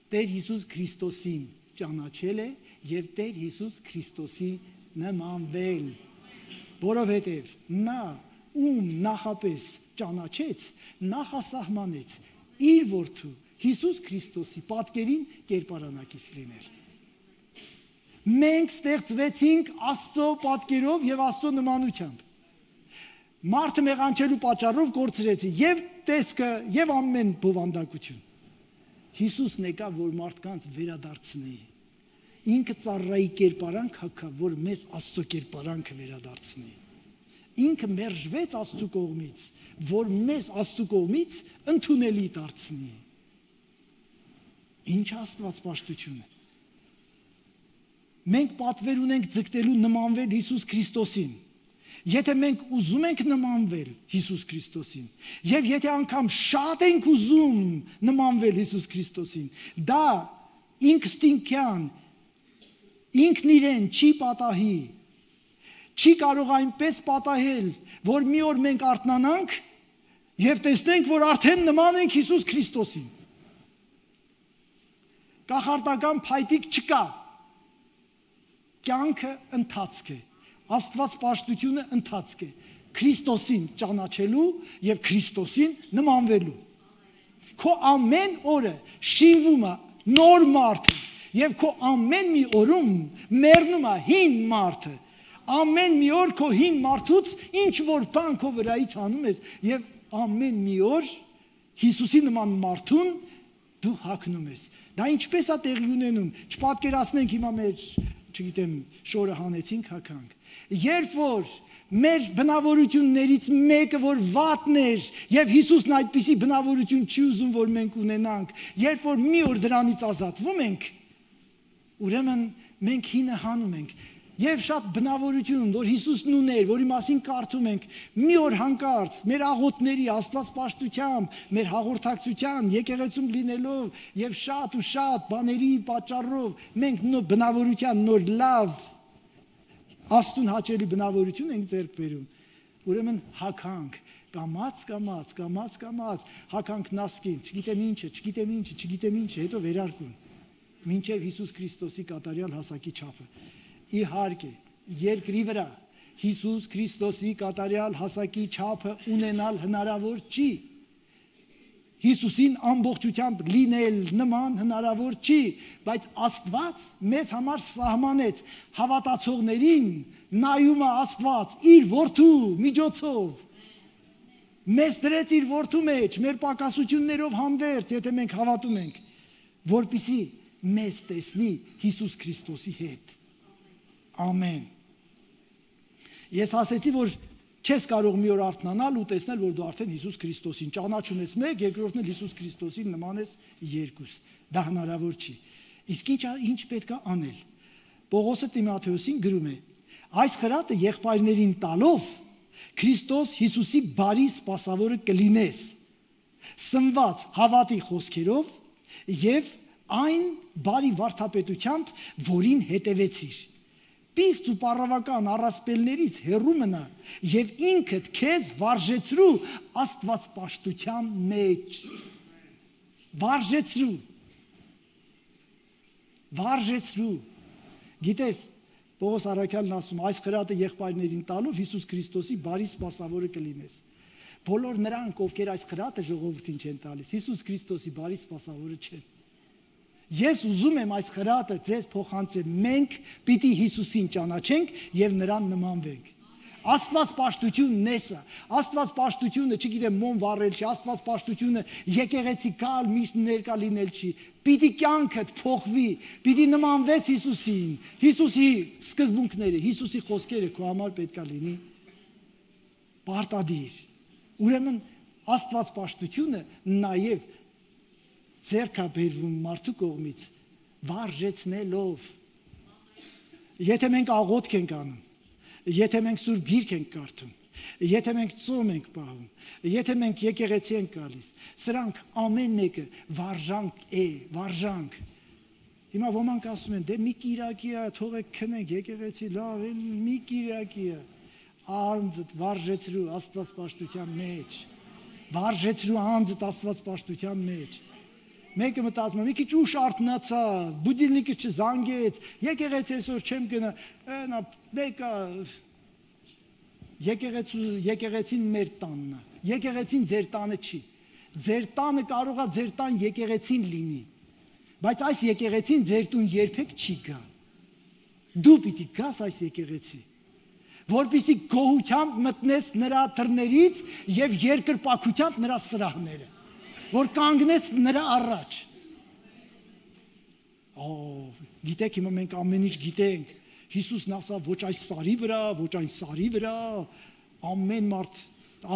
Տեր Հիսուս Քրիստոսին ճանաչել է եւ Տեր Հիսուս Քրիստոսի նմանվել։ Որովհետեւ նա ում նախապես ճանաչեց, նախասահմանեց իր որդու Հիսուս Քրիստոսի պատկերին կերպարանակից լինել։ Մենք ստեղծվեցինք Աստծո պատկերով եւ Աստծո նմանությամբ։ Մարդը մեղանչելու պատճառով կորցրեցի եւ տեսքը եւ ամեն բովանդակություն։ Հիսուսն եկավ, որ մարդկանց վերադարձնի։ Ինքը ծառայի կերպարանք հագավ, որ մեզ Աստծո կերպարանքը վերադարձնի։ Ինքը մերժվեց Աստծո կողմից, որ մեզ Աստծո կողմից ընդունելի դարձնի։ Ինչ Աստվածպաշտություն է։ Մենք պատվեր ունենք ձգտելու նմանվել Հիսուս Քրիստոսին։ Եթե մենք ուզում ենք նմանվել Հիսուս Քրիստոսին, եւ եթե անգամ շատ ենք ուզում նմանվել Հիսուս Քրիստոսին, դա ինքստինքյան ինքն իրեն չի պատահի, չի կարող այնպես պատահել, որ մի օր մենք արթնանանք եւ տեսնենք, որ արդեն նման ենք Հիսուս Քրիստոսին։ Կախարդական փայտիկ չկա։ Կյանքը ընթացք է։ Աստվածպաշտությունը ընթացք է Քրիստոսին ճանաչելու եւ Քրիստոսին նմանվելու։ Քո ամեն օրը շինվում է նոր մարդը եւ քո ամեն մի օրում մեռնում է հին մարդը։ Ամեն մի օր քո հին մարդուց ինչ որ բան քո վրայից անում ես եւ ամեն մի օր Հիսուսի նման մարդուն դու հագնում ես։ Դա ինչպես է տեղի ունենում։ Չպատկերացնենք հիմա մեր, չգիտեմ, շորը հանեցինք, հագանք։ Երբ որ Մեր բնավորություններից մեկը որ վատն էր եւ Հիսուսն այդպիսի բնավորություն չի ուզում որ մենք ունենանք, երբ որ մի օր դրանից ազատվում ենք, ուրեմն մենք հինը հանում ենք եւ շատ բնավորություն որ Հիսուսն ուներ, որի մասին կարդում ենք, մի օր հանկարծ մեր աղոթների աստվածպաշտությամբ, մեր հաղորդակցության, եկեղեցում լինելով եւ շատ ու շատ բաների պատճառով մենք նոր բնավորության նոր լավ Աստուն հաճելի բնավորություն ենք ձեռք բերում, ուրեմն հագանք, կամաց, կամաց, կամաց, կամաց, հագանք նասկին, չգիտեմ ինչը, չգիտեմ ինչը, չգիտեմ ինչը, հետո վերարկուն, մինչև Հիսուս Քրիստոսի կատարյալ հասակի չափը, իհարկե, երկրի վրա, Հիսուս Քրիստոսի կատարյալ հասակի չափը ունենալ հնարավոր չի, Հիսուսին ամբողջությամբ լինել նման հնարավոր չի, բայց Աստված մեզ համար սահմանեց հավատացողներին նայում է Աստված իր որդու միջոցով մեզ դրեց իր որդու մեջ մեր պակասություններով հանդերձ եթե մենք հավատում ենք որպեսզի մեզ տեսնի Հիսուս Քրիստոսի հետ ամեն ես ասեցի որ չես կարող մի օր արթնանալ ու տեսնել, որ դու արդեն Հիսուս Քրիստոսին ճանաչում ես մեկ, երկրորդն էլ Հիսուս Քրիստոսին նման ես երկուս։ Դա հնարավոր չի։ Իսկ ինչ ինչ պետք է անել։ Պողոսը Տիմոթեոսին գրում է. այս խրատը եղբայրներին տալով Քրիստոս Հիսուսի բարի սպասավորը կլինես, սնված հավատի խոսքերով եւ այն բարի վարդապետությամբ, որին հետևեցիր։ Պիղծ ու պարավական առասպելներից հեռու մնա եւ ինքդ քեզ վարժեցրու Աստվածպաշտության մեջ վարժեցրու վարժեցրու գիտես Պողոս առաքյալն ասում այս խրատը եղբայրներին տալով Հիսուս Քրիստոսի բարի սպասավորը կլինես բոլոր նրանք ովքեր այս խրատը ժողովրդին չեն տալիս Հիսուս Քրիստոսի բարի սպասավորը չեն Ես ուզում եմ այս խրատը ձեզ փոխանցել մենք պիտի Հիսուսին ճանաչենք եւ նրան նմանվենք Աստվածպաշտությունն է սա Աստվածպաշտությունը չգիտեմ մոմ վառել չի Աստվածպաշտությունը եկեղեցի կալ միշտ ներկա լինել չի պիտի կյանքդ փոխվի պիտի նմանվես Հիսուսին Հիսուսի սկզբունքները Հիսուսի խոսքերը քո համար պետքա լինի պարտադիր ուրեմն Աստվածպաշտությունը նաեւ ձեռք է բերվում մարդու կողմից վարժեցնելով եթե մենք աղոթք ենք անում եթե մենք սուրբ գիրք ենք կարդում եթե մենք ծոմ ենք պահում եթե մենք եկեղեցի ենք գալիս սրանք ամեն մեկը վարժանք է վարժանք հիմա ոմանք ասում են դե մի կիրակի է թողեք քնենք եկեղեցի լավ է մի կիրակի է անձդ վարժեցրու Աստվածպաշտության մեջ վարժեցրու անձդ Աստվածպաշտության մեջ Մեկը մտածում է, մի քիչ ուշ արթնացա, բուդիլնիկը չզանգեց, եկեղեցի այսօր չեմ գնա, նա մեկը եկեղեցու եկեղեցին մեր տանն է, եկեղեցին ձեր տանը չի, ձեր տանը կարող է ձեր տան եկեղեցին լինի, բայց այս եկեղեցին ձեր տուն երբեք չի գա, դու պիտի գաս այս եկեղեցի, որպեսզի գոհությամբ մտնես նրա դռներից եւ երկրպագությամբ նրա սրահները որ կանգնես նրա առաջ Օ գիտեք հիմա մենք ամեն ինչ գիտենք Հիսուսն ասա ոչ այս սարի վրա ոչ այն սարի վրա ամեն մարդ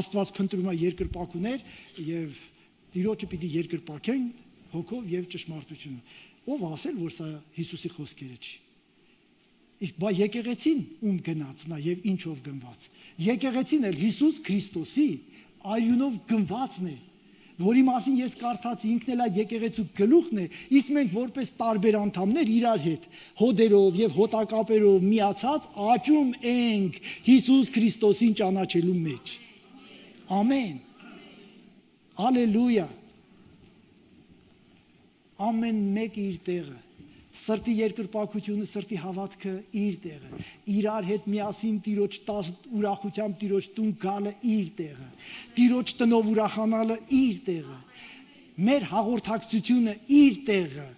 Աստված փնտրում է երկրպագուներ եւ Տիրոջը պիտի երկրպագեն հոգով եւ ճշմարտությունը ով ասել որ սա Հիսուսի խոսքերը չի իսկ բա եկեղեցին ում գնացն է եւ ինչով գնված եկեղեցին էլ Հիսուս Քրիստոսի արյունով գնվածն է որի մասին ես կարդացի ինքն էլ այդ եկեղեցու գլուխն է, իսկ մենք որպես տարբեր անդամներ իրար հետ հոդերով եւ հոտակապերով միացած աճում ենք Հիսուս Քրիստոսին ճանաչելու մեջ։ Ամեն։ Հալելույա։ Ամեն մեկ իր տեղը։ Սրտի երկրպագությունը, սրտի հավատքը իր տեղը, իրար հետ միասին Տիրոջ ուրախությամբ Տիրոջ տուն գալը իր տեղը, Տիրոջ տնով ուրախանալը իր տեղը, մեր հաղորդակցությունը իր տեղը,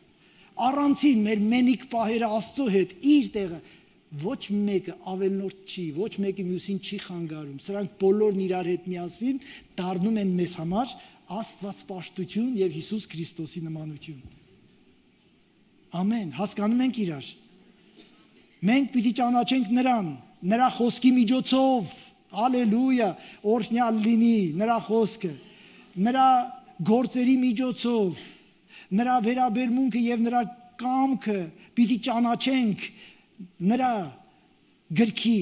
առանցին մեր մենիկ պահերը Աստծո հետ իր տեղը, ոչ մեկը ավելնորդ չի, ոչ մեկը մյուսին չի խանգարում, սրանք բոլորն իրար հետ միասին դառնում են մեզ համար Աստվածպաշտություն եւ Հիսուս Քրիստոսի նմանություն։ Ամեն, հասկանում ենք իրար։ Մենք պիտի ճանաչենք նրան, նրա խոսքի միջոցով, հալելույա, օրհնյալ լինի նրա խոսքը, նրա գործերի միջոցով, նրա վերաբերմունքը եւ նրա կամքը պիտի ճանաչենք նրա գրքի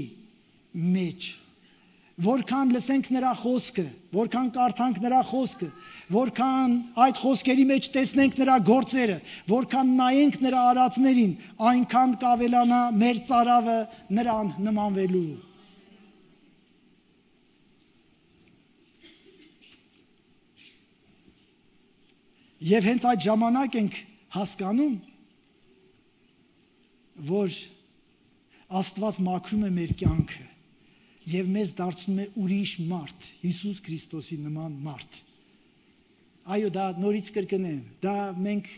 մեջ, որքան լսենք նրա խոսքը, որքան կարդանք նրա խոսքը, որքան այդ խոսքերի մեջ տեսնենք նրա գործերը, որքան նայենք նրա արածներին, այնքան կավելանա մեր ծարավը նրան նմանվելու։ Եվ հենց այդ ժամանակ ենք հասկանում, որ Աստված մաքրում է մեր կյանքը եւ մեզ դարձնում է ուրիշ մարդ, Հիսուս Քրիստոսի նման մարդ։ Այո, դա նորից կրկնեմ, դա մենք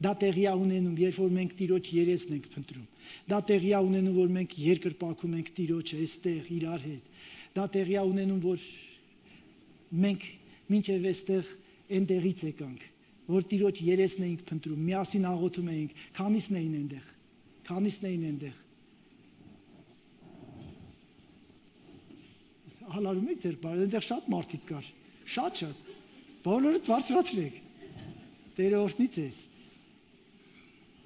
դա տեղի է ունենում, երբ որ մենք Տիրոջ երեսն ենք փնտրում։ Դա տեղի է ունենում, որ մենք երկրպագում ենք Տիրոջը այստեղ իրար հետ։ Դա տեղի է ունենում, որ մենք մինչև այստեղ այնտեղից եկանք, որ Տիրոջ երեսն էինք փնտրում, միասին աղոթում էինք, քանիսն էին այնտեղ, քանիսն էին այնտեղ։ Հալարում եք ձեր բարը, այնտեղ շատ մարդիկ կար, շատ շատ, բոլորդ բարձրացրեք, Տերը օրհնի ձեզ։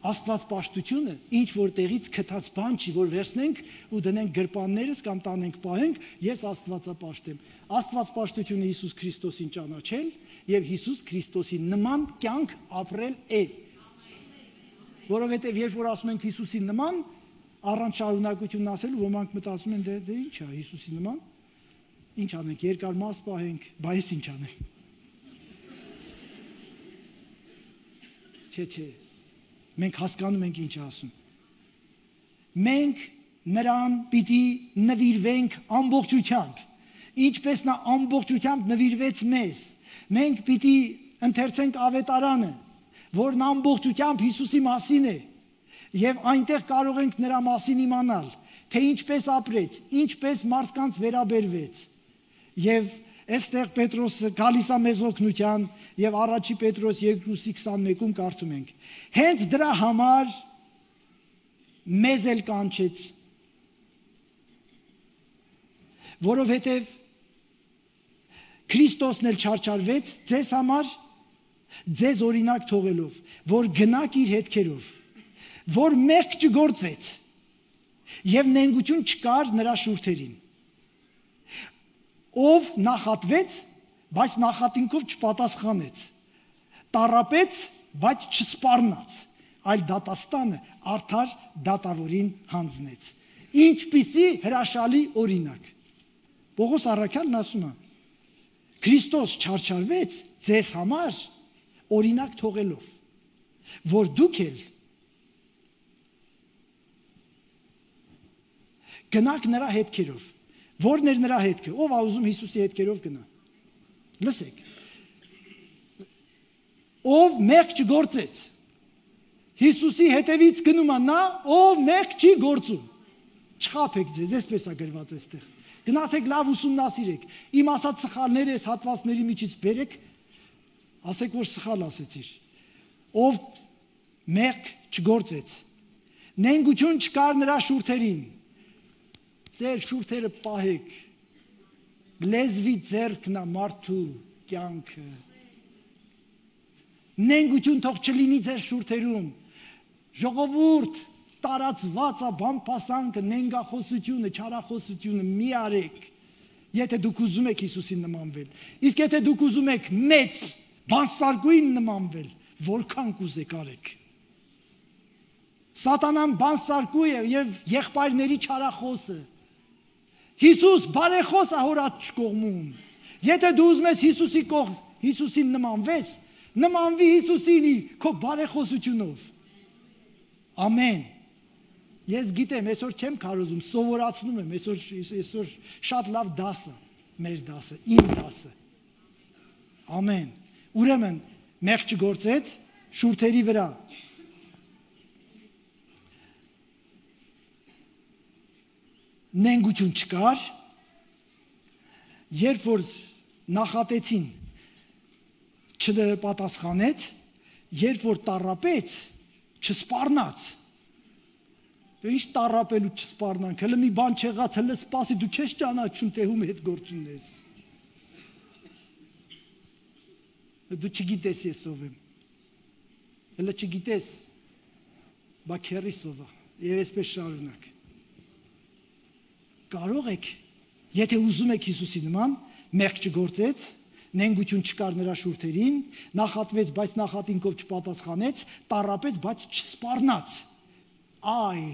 Աստված պաշտությունը ինչ որ տեղից քթած բան չի, որ վերցնենք ու դնենք գրպաններս կամ տանենք պահենք, ես Աստվածապաշտ եմ։ Աստված պաշտությունը Հիսուս Քրիստոսին ճանաչել եւ Հիսուս Քրիստոսի նման կյանք ապրել է։ Որովհետեւ երբ որ ասում ենք Հիսուսի նման, առանց շարունակություն ասելու ոմանք մտածում են դե դե ի՞նչ է Հիսուսի նման։ Ինչ անենք, երկար մաս պահենք, բայց ինչ անենք։ Չէ, չէ, մենք հասկանում ենք ինչ ասում։ Մենք նրան պիտի նվիրվենք ամբողջությամբ, ինչպես նա ամբողջությամբ նվիրվեց մեզ։ Մենք պիտի ընթերցենք ավետարանը, որն ամբողջությամբ Հիսուսի մասին է, եւ այնտեղ կարող ենք նրա մասին իմանալ, թե ինչպես ապրեց, ինչպես մարդկանց վերաբերվեց։ Եվ այստեղ Պետրոսը գալիս է մեզ օգնության եւ առաջի Պետրոս երկուսի քսանմեկում կարդում ենք. հենց դրա համար մեզ էլ կանչեց, որովհետեւ Քրիստոսն էլ չարչարվեց ձեզ համար, ձեզ օրինակ թողելով, որ գնաք իր հետքերով, որ մեղք չգործեց եւ նենգություն չկար նրա շուրթերին, ով նախատվեց, բայց նախատինքով չպատասխանեց, տառապեց, բայց չսպառնաց, այլ դատաստանը արդար դատավորին հանձնեց։ Ինչպիսի հրաշալի օրինակ։ Պողոս առաքյալն ասում է. Քրիստոս չարչարվեց ձեզ համար օրինակ թողելով, որ դուք էլ գնաք նրա հետքերով։ Որն էր նրա հետքը, ով ա ուզում Հիսուսի հետքերով գնա։ Լսեք։ Ով մեղք չգործեց։ Հիսուսի հետևից գնում է նա, ով մեղք չի գործում։ Չխաբեք ձեզ, այսպես է գրված այստեղ։ Գնացեք լավ ուսումնասիրեք։ Իմ ասած սխալները այս հատվածների միջից բերեք, ասեք որ սխալ ասեցիր։ Ով մեղք չգործեց։ Նենգություն չկար նրա շուրթերին։ Ձեր շուրթերը պահեք, լեզվի ձեռքն է մարդու կյանքը, նենգություն թող չլինի ձեր շուրթերում, ժողովուրդ տարածված է բամփասանքը, նենգախոսությունը, չարախոսությունը մի արեք, եթե դուք ուզում եք Հիսուսին նմանվել, իսկ եթե դուք ուզում եք մեծ բանսարկուին նմանվել, որքան կուզեք արեք։ Սատանան բանսարկու է եւ եղբայրների չարախոսը։ Հիսուս բարեխոս է հորած կողմում։ Եթե դու ուզում ես Հիսուսի կողմ, Հիսուսին նմանվես, նմանվի Հիսուսին քո բարեխոսությունով։ Ամեն։ Ես գիտեմ, այսօր չեմ քարոզում, սովորացնում եմ, այսօր այսօր շատ լավ դաս է, մեր դասը, իմ դասը։ Ամեն։ Ուրեմն մեղք չգործեց շուրթերի վրա։ Նենգություն չկար, երբ որ նախատեցին չպատասխանեց, երբ որ տառապեց, չսպառնաց, Դու ինչ տարապելու չսպառնանք, հələ մի բան չեղած, հələ սպասի, դու չես ճանաչում, թե ում հետ գործ ունես։ Դու չգիտես ես ով եմ։ Հələ չգիտես, բա քերիս ով է, եւ այսպես շարունակ։ Կարող եք, եթե ուզում եք Հիսուսի նման, մեղք չգործեց, նենգություն չկար նրա շուրթերին, նախատվեց, բայց նախատինքով չպատասխանեց, տառապեց, բայց չսպառնաց, այլ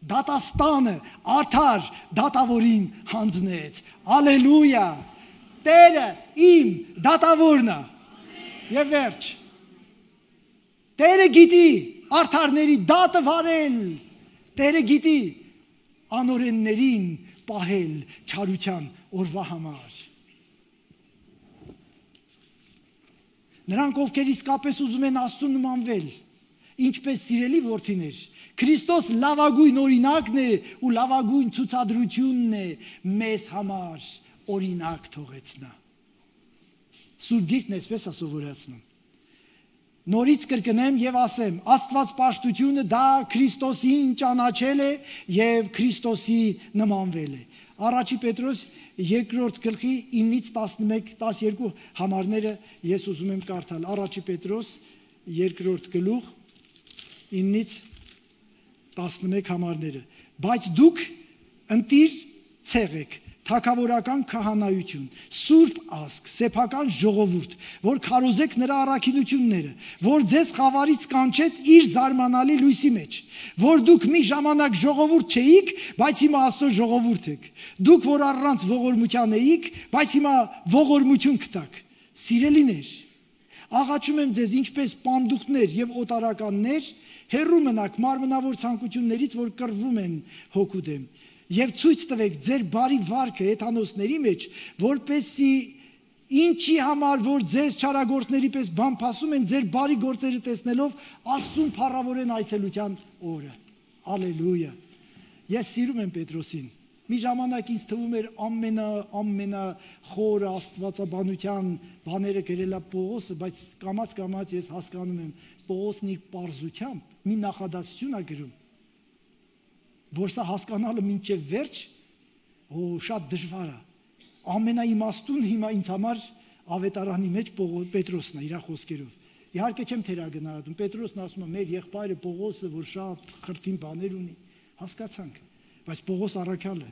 դատաստանը արդար դատավորին հանձնեց։ Ալելույա։ Տերը իմ դատավորն է։ Եվ վերջ։ Տերը գիտի արդարների դատը վարել։ Տերը գիտի անօրեններին պահել չարության օրվա համար։ Նրանք, ովքեր իսկապես ուզում են Աստծուն նմանվել, ինչպես սիրելի որդիներ, Քրիստոս լավագույն օրինակն է ու լավագույն ցուցադրությունն է մեզ համար օրինակ թողեց նա։ Սուրբ Գիրքն այսպես է սովորացնում։ Նորից կրկնեմ եւ ասեմ, Աստված պաշտությունը դա Քրիստոսին ճանաչել է եւ Քրիստոսի նմանվել է։ Առաջի Պետրոս երկրորդ գլխի ինից տասնմեկ տասներկու համարները ես ուզում եմ կարդալ։ Առաջի Պետրոս երկրորդ գլուխ ինից տասնմեկ համարները։ Բայց դուք ընտիր ցեղեք, թագավորական քահանայություն, սուրբ ազգ, սեփական ժողովուրդ, որ քարոզեք նրա առաքինությունները, որ ձեզ խավարից կանչեց իր զարմանալի լույսի մեջ, որ դուք մի ժամանակ ժողովուրդ չէիք, բայց հիմա Աստծո ժողովուրդ եք, դուք որ առանց ողորմության էիք, բայց հիմա ողորմություն գտաք։ Սիրելիներ, աղաչում եմ ձեզ, ինչպես պանդուխտներ եւ օտարականներ, հեռու մնաք մարմնավոր ցանկություններից, որ կռվում են հոգու դեմ։ Եվ ցույց տվեք ձեր բարի վարքը հեթանոսների մեջ, որպեսզի ինչի համար որ ձեզ չարագործների պես բամփասում են, ձեր բարի գործերը տեսնելով Աստծուն փառավորեն այցելության օրը։ Ալելույա։ Ես սիրում եմ Պետրոսին։ Մի ժամանակ ինձ թվում էր ամենա ամենա խորը աստվածաբանության բաները գրելա Պողոսը, բայց կամաց կամաց ես հասկանում եմ Պողոսն իր պարզությամբ մի նախադասություն է գրում, որ սա հասկանալը մինչև վերջ, օ, շատ դժվար է։ Ամենաիմաստուն հիմա ինձ համար ավետարանի մեջ Պետրոսն է, իր խոսքերով։ Իհարկե չեմ թերագնահատում, Պետրոսն ասում է, մեր եղբայրը Պողոսը, որ շատ խրթին բաներ ունի, հասկացանք, բայց Պողոս առաքյալը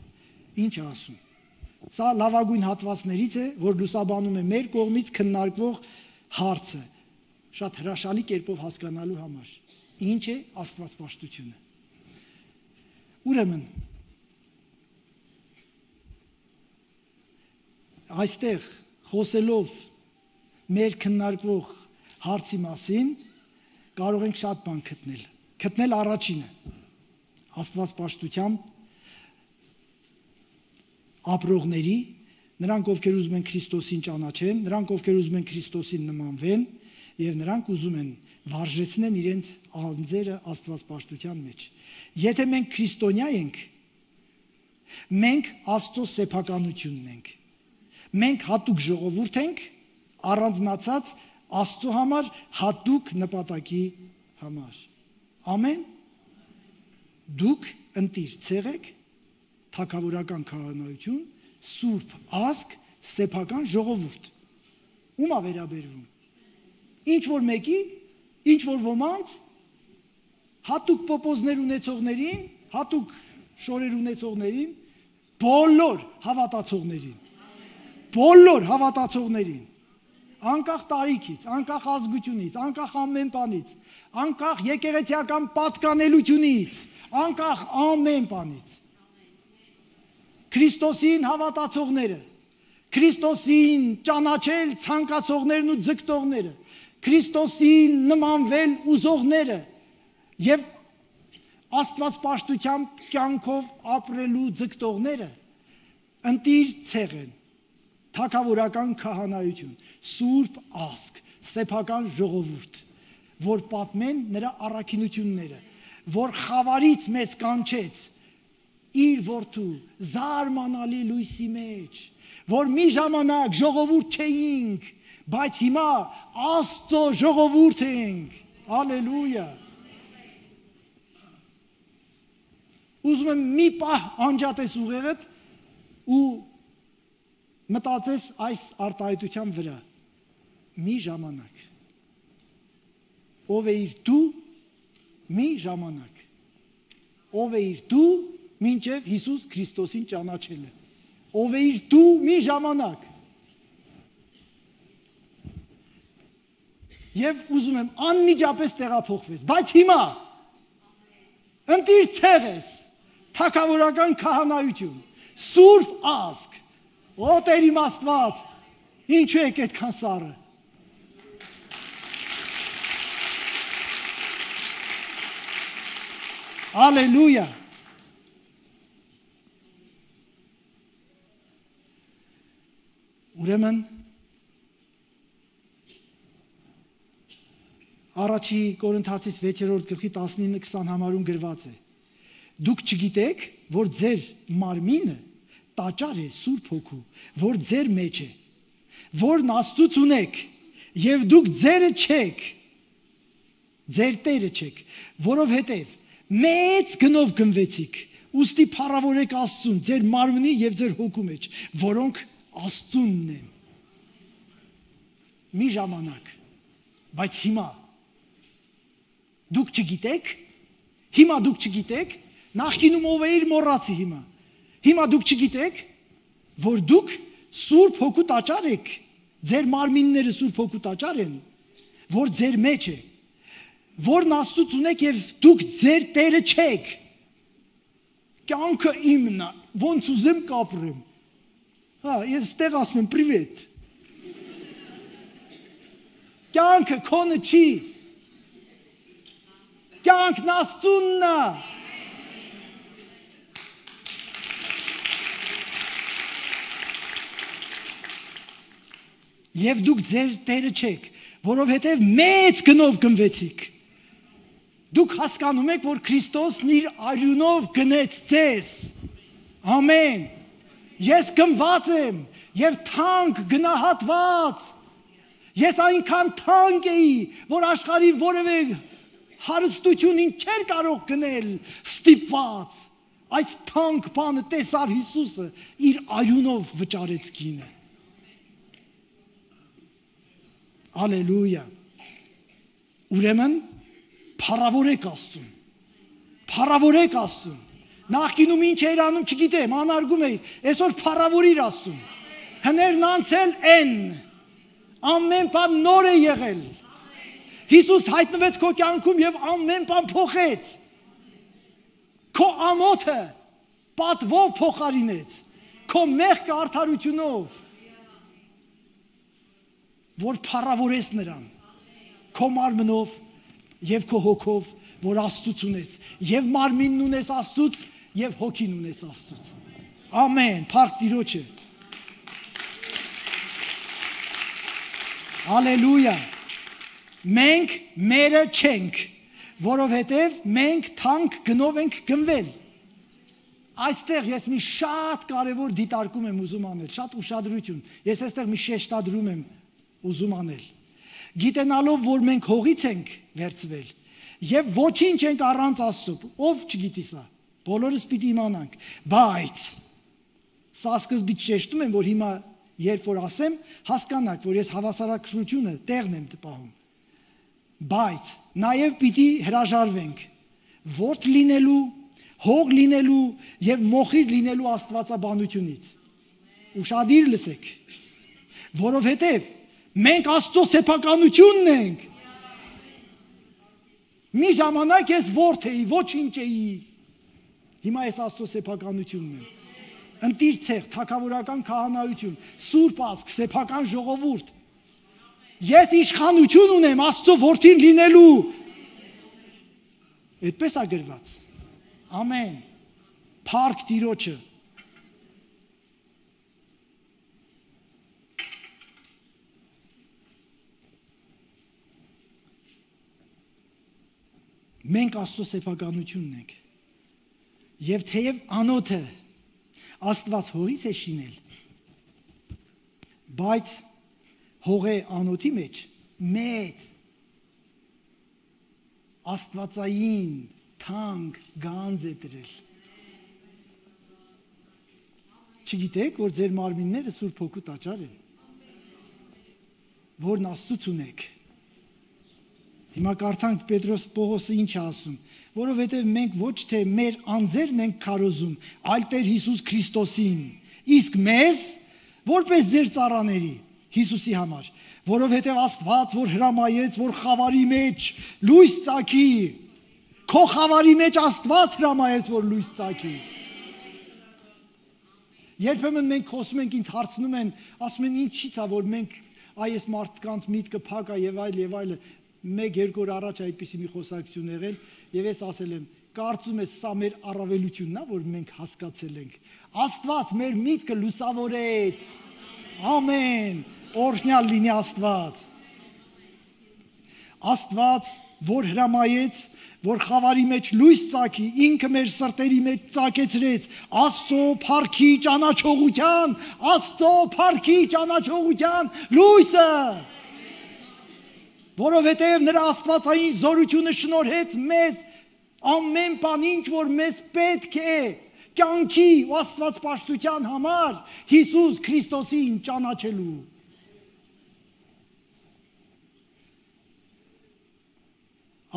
ինչ է ասում։ Սա լավագույն հատվածներից է, որ լուսաբանում է մեր կողմից քննարկվող հարցը, շատ հրաշալի կերպով հասկանալու համար։ Ինչ է աստվածպաշտությունը։ Ուրեմն այստեղ խոսելով մեր քննարկվող հարցի մասին կարող ենք շատ բան գտնել։ Գտնել առաջինը աստվածպաշտությամբ ապրողների, նրանք ովքեր ուզում են Քրիստոսին ճանաչեն, նրանք ովքեր ուզում են Քրիստոսին նմանվեն եւ նրանք ուզում են վարժեցնեն իրենց անձերը աստվածպաշտության մեջ։ Եթե մենք քրիստոնյա ենք, մենք Աստծո սեփականությունն ենք։ Մենք հատուկ ժողովուրդ ենք, առանձնացած Աստծո համար հատուկ նպատակի համար։ Ամեն։ Դուք ընտիր ցեղեք, թագավորական քահանայություն, սուրբ ազգ, սեփական ժողովուրդ։ Ում է վերաբերվում։ Ինչ որ մեկի, ինչ որ ոմանց, հատուկ պոպոզներ ունեցողներին, հատուկ շորեր ունեցողներին, բոլոր հավատացողներին, բոլոր հավատացողներին, անկախ տարիքից, անկախ ազգությունից, անկախ ամեն բանից, անկախ եկեղեցիական պատկանելությունից, անկախ ամեն բանից, Քրիստոսին հավատացողները, Քրիստոսին ճանաչել ցանկացողներն ու ձգտողները, Քրիստոսին նմանվել ուզողները եւ աստվածպաշտությամբ կյանքով ապրելու ձգտողները ընտիր ցեղ են, թագավորական քահանայություն, սուրբ ազգ, սեփական ժողովուրդ, որ պատմեն նրա առաքինությունները, որ խավարից մեզ կանչեց իր որդու զարմանալի լույսի մեջ, որ մի ժամանակ ժողովուրդ չէինք, բայց հիմա Աստծո ժողովուրդ ենք։ Ալելույա։ ուզում եմ մի պահ անջատես ուղեղդ ու մտածես այս արտահայտության վրա մի ժամանակ ով էիր դու մի ժամանակ ով էիր դու մինչև Հիսուս Քրիստոսին ճանաչելը ով էիր դու մի ժամանակ եւ ուզում եմ անմիջապես տեղափոխվես բայց հիմա ընտիր ցեղես թագավորական քահանայություն սուրբ ազգ ո Տեր իմ Աստված ինչու եք այդքան սառը Ալելույա Ուրեմն Առաջի Կորինթացիս վեցերորդ գլխի տասնինը քսան համարում գրված է Դուք չգիտեք, որ ձեր մարմինը տաճար է Սուրբ Հոգու, որ ձեր մեջ է, որն Աստծուց ունեք, եւ դուք ձերը չեք, ձեր Տերը չեք, որովհետեւ մեծ գնով գնվեցիք, ուստի փառավորեք Աստծուն, ձեր մարմնի եւ ձեր հոգու մեջ, որոնք Աստծունն են։ Մի ժամանակ, բայց հիմա դուք չգիտեք, հիմա դուք չգիտեք, նախկինում ով էիր մոռացի հիմա։ Հիմա դուք չգիտեք, որ դուք Սուրբ Հոգու տաճար եք, ձեր մարմինները Սուրբ Հոգու տաճար են, որ ձեր մեջ է, որն Աստծուց ունեք եւ դուք ձեր Տերը չեք։ Կյանքը իմն է, ոնց ուզեմ կապրեմ։ Հա, ես ստեղ ասում եմ պրիվետ։ Կյանքը քոնը չի։ Կյանքն Աստծունն է։ Եվ դուք ձեր Տերը չեք, որովհետև մեծ գնով գնվեցիք։ Դուք հասկանում եք, որ Քրիստոսն իր արյունով գնեց ձեզ։ Ամեն։ Ես գնված եմ եւ թանկ գնահատված։ Ես այնքան թանկ էի, որ աշխարհի որևէ հարստությունին չէր կարող գնել ստիպված։ Այս թանկ բանը տեսավ Հիսուսը, իր արյունով վճարեց գինը։ Ալելույա։ Ուրեմն փառավորեք Աստծուն։ Փառավորեք Աստծուն։ Նախկինում ինչ էր անում չգիտեմ, անարգում էի, այսօր փառավորիր Աստծուն։ Հներն անցել են։ Ամեն բան նոր է եղել։ Հիսուս հայտնվեց քո կյանքում եւ ամեն բան փոխեց։ Քո ամոթը պատվով փոխարինեց։ Քո մեղքը արդարությունով։ Որ փառավորես նրան քո մարմնով եւ քո հոգով որ Աստծուց ունես եւ մարմինն ունես Աստծուց եւ հոգին ունես Աստծուց ամեն փառք Տիրոջը Ալելույա մենք մերը չենք որովհետեւ մենք թանկ գնով ենք գնվել այստեղ ես մի շատ կարևոր դիտարկում եմ ուզում անել շատ ուշադրություն ես այստեղ մի շեշտադրում եմ ուզում անել գիտենալով որ մենք հողից ենք վերցվել եւ ոչինչ ենք առանց Աստծո ով չգիտի սա բոլորս պիտի իմանանք բայց սա սկզբից շեշտում եմ որ հիմա երբ որ ասեմ հասկանաք որ ես հավասարակշռությունը տեղն եմ տպահում բայց նաեւ պիտի հրաժարվենք ворթ լինելու հող լինելու եւ մոխիր լինելու աստվածաբանությունից ուշադիր լսեք որովհետեւ մենք Աստծո սեփականությունն ենք։ Մի ժամանակ ես ворթ էի, ոչինչ էի։ Հիմա ես Աստծո սեփականությունն եմ։ Ընտիր ցեղ, թագավորական քահանայություն, սուրբ ազգ, սեփական ժողովուրդ։ Ես իշխանություն ունեմ Աստծո որդին լինելու։ Այդպես է գրված։ Ամեն։ Փառք Տիրոջը։ Մենք Աստծո սեփականությունն ենք։ Եվ թեև անոթը Աստված հողից է շինել, բայց հողե անոթի մեջ մեծ աստվածային թանկ գանձ է դրել։ Չգիտեք, որ ձեր մարմինները Սուրբ Հոգու տաճար են, որն Աստծուց ունեք։ Հիմա կարդանք Պետրոս Պողոսը ինչ է ասում, որովհետև մենք ոչ թե մեր անձերն ենք քարոզում, այլ Տեր Հիսուս Քրիստոսին, իսկ մեզ որպես ձեր ծառաների Հիսուսի համար, որովհետև Աստված, որ հրամայեց, որ խավարի մեջ լույս ծագի, քո խավարի մեջ Աստված հրամայեց, որ լույս ծագի։ Երբեմն մենք խոսում ենք, ինձ հարցնում են, ասում են ինչի՞ց է, որ մենք այս մարդկանց միտքը փակ է եւ այլ եւ այլը, մեկ երկու օր առաջ այդպիսի մի խոսակցություն եղել եւ ես ասել եմ, կարծում ես սա մեր առավելությունն է, որ մենք հասկացել ենք։ Աստված մեր միտքը լուսավորեց։ Ամեն։ Օրհնյալ լինի Աստված։ Աստված, որ հրամայեց, որ խավարի մեջ լույս ծագի, ինքը մեր սրտերի մեջ ծագեցրեց Աստծո փառքի ճանաչողության, Աստծո փառքի ճանաչողության լույսը, որովհետև նրա աստվածային զորությունը շնորհեց մեզ ամեն բան, ինչ որ մեզ պետք է կյանքի ու աստվածպաշտության համար Հիսուս Քրիստոսին ճանաչելու։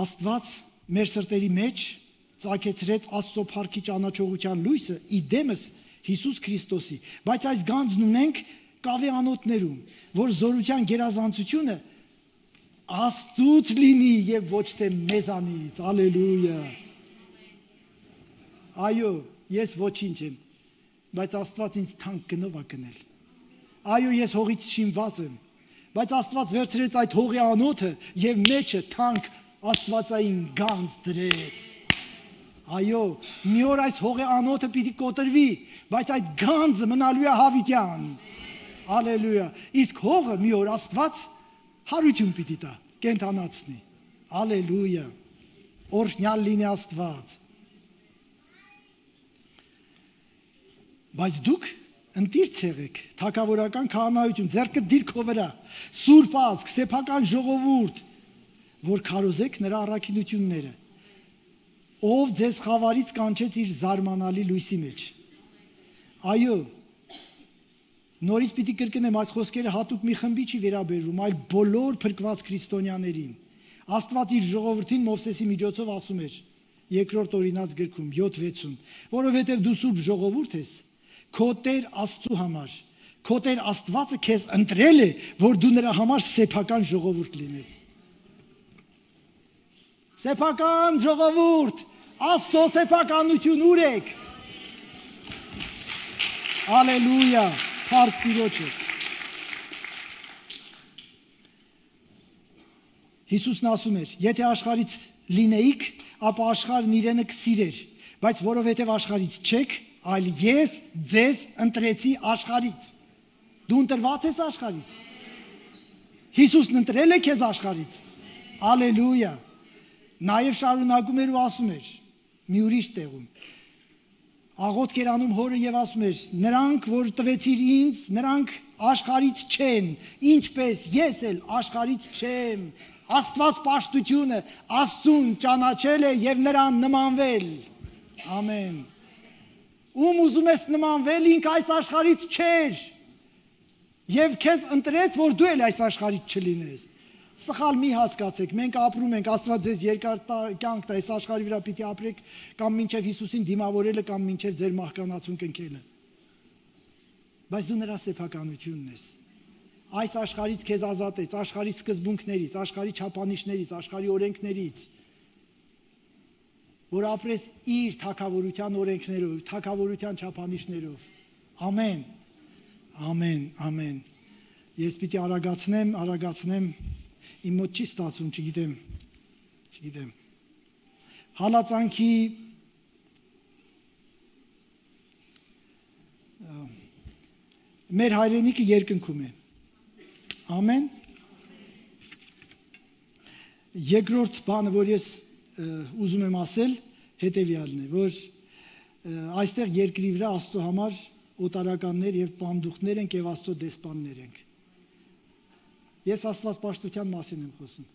Աստված մեր սրտերի մեջ ծագեցրեց Աստծո փառքի ճանաչողության լույսը իդեմս Հիսուս Քրիստոսի, բայց այս գանձն ունենք կավի անոթներում, որ զորության գերազանցությունը Աստծուց լինի եւ ոչ թե մեզանից։ Ալելույա։ Այո, ես ոչինչ եմ, բայց Աստված ինձ թանկ գնով է գնել։ Այո, ես հողից շինված եմ, բայց Աստված վերցրեց այդ հողի անոթը եւ մեջը թանկ Աստվածային գանձ դրեց։ Այո, մի օր այս հողի անոթը պիտի կոտրվի, բայց այդ գանձը մնալու է հավիտյան։ Ալելույա։ Իսկ հողը մի օր Աստված հարություն պիտի տա, կենթանացնի։ Ալելույա։ Օրհնյալ լինի Աստված։ Բայց դուք ընտիր եղեք, թագավորական քահանայություն, ձեռքը դիրքո վրա, սուրբ ազգ, սեփական ժողովուրդ, որ քարոզեք նրա առաքինությունները, ով ձեզ խավարից կանչեց իր զարմանալի լույսի մեջ։ Այո, նորից պիտի կրկնեմ, այս խոսքերը հատուկ մի խմբի չի վերաբերվում, այլ բոլոր փրկված քրիստոնյաներին։ Աստված իր ժողովրդին Մովսեսի միջոցով ասում էր երկրորդ օրինաց գրքում յոթ վեցում, որովհետև դու սուրբ ժողովուրդ ես, քո Տեր Աստծու համար, քո Տեր Աստվածը քեզ ընտրել է, որ դու նրա համար սեփական ժողովուրդ լինես։ Սեփական ժողովուրդ, Աստծո սեփականություն ուր եք։ Ալելույա, փառք Տիրոջը։ Հիսուսն ասում էր, եթե աշխարհից լինեիք, ապա աշխարհն իրենը կսիրեր, բայց որովհետև աշխարհից չեք, այլ ես ձեզ ընտրեցի աշխարհից։ Դու ընտրված ես աշխարհից։ Հիսուսն ընտրել է քեզ աշխարհից։ Ալելույա։ Նաև շարունակում էր ու ասում էր մի ուրիշ տեղում, աղոթք էր անում հորը եւ ասում էր, նրանք, որ տվեցիր ինձ, նրանք աշխարհից չեն, ինչպես ես էլ աշխարհից չեմ։ Աստված պաշտությունը Աստծուն ճանաչել է եւ նրան նմանվել։ Ամեն։ Ում ուզում ես նմանվել, ինք այս աշխարհից չէր։ Եվ քեզ ընտրեց, որ դու էլ այս աշխարհից չլինես։ Սխալ մի հասկացեք, մենք ապրում ենք, Աստված ձեզ երկար կյանք տա, այս աշխարհի վրա պիտի ապրեք, կամ մինչև Հիսուսին դիմավորելը, կամ մինչև ձեր մահկանացուն կնքելը։ Բայց դու նրա սեփականությունն ես։ Այս աշխարհից քեզ ազատեց, աշխարհի սկզբունքներից, աշխարհի չափանիշներից, աշխարհի օրենքներից, որ ապրես իր թագավորության օրենքներով, թագավորության չափանիշներով։ Ամեն։ Ամեն, ամեն։ Ես պիտի արագացնեմ, արագացնեմ, իմ մոտ չի ստացվում, չգիտեմ, չգիտեմ։ Հալածանքի մեր հայրենիքը երկնքում է։ Ամեն։ Երկրորդ բանը, որ ես ուզում եմ ասել, հետևյալն է, որ այստեղ երկրի վրա Աստծո համար օտարականներ եւ պանդուխտներ ենք եւ Աստծո դեսպաններ ենք։ Ես աստվածպաշտության մասին եմ խոսում։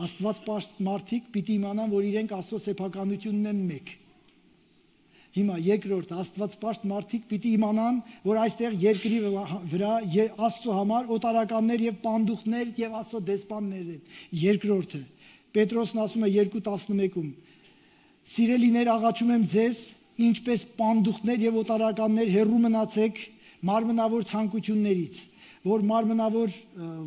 Աստվածպաշտ մարդիկ պիտի իմանան, որ իրենք Աստծո սեփականությունն են մեկ։ Հիմա երկրորդ Աստվածպաշտ մարդիկ պիտի իմանան, որ այստեղ երկրի վրա Աստծո համար օտարականներ եւ պանդուխներ եւ Աստծո դեսպաններ են։ Երկրորդը Պետրոսն ասում է երկու տասնմեկում. Սիրելիներ, աղաչում եմ ձեզ, ինչպես պանդուխներ եւ օտարականներ հեռու մնացեք մարմնավոր ցանկություններից, որ մարմնավոր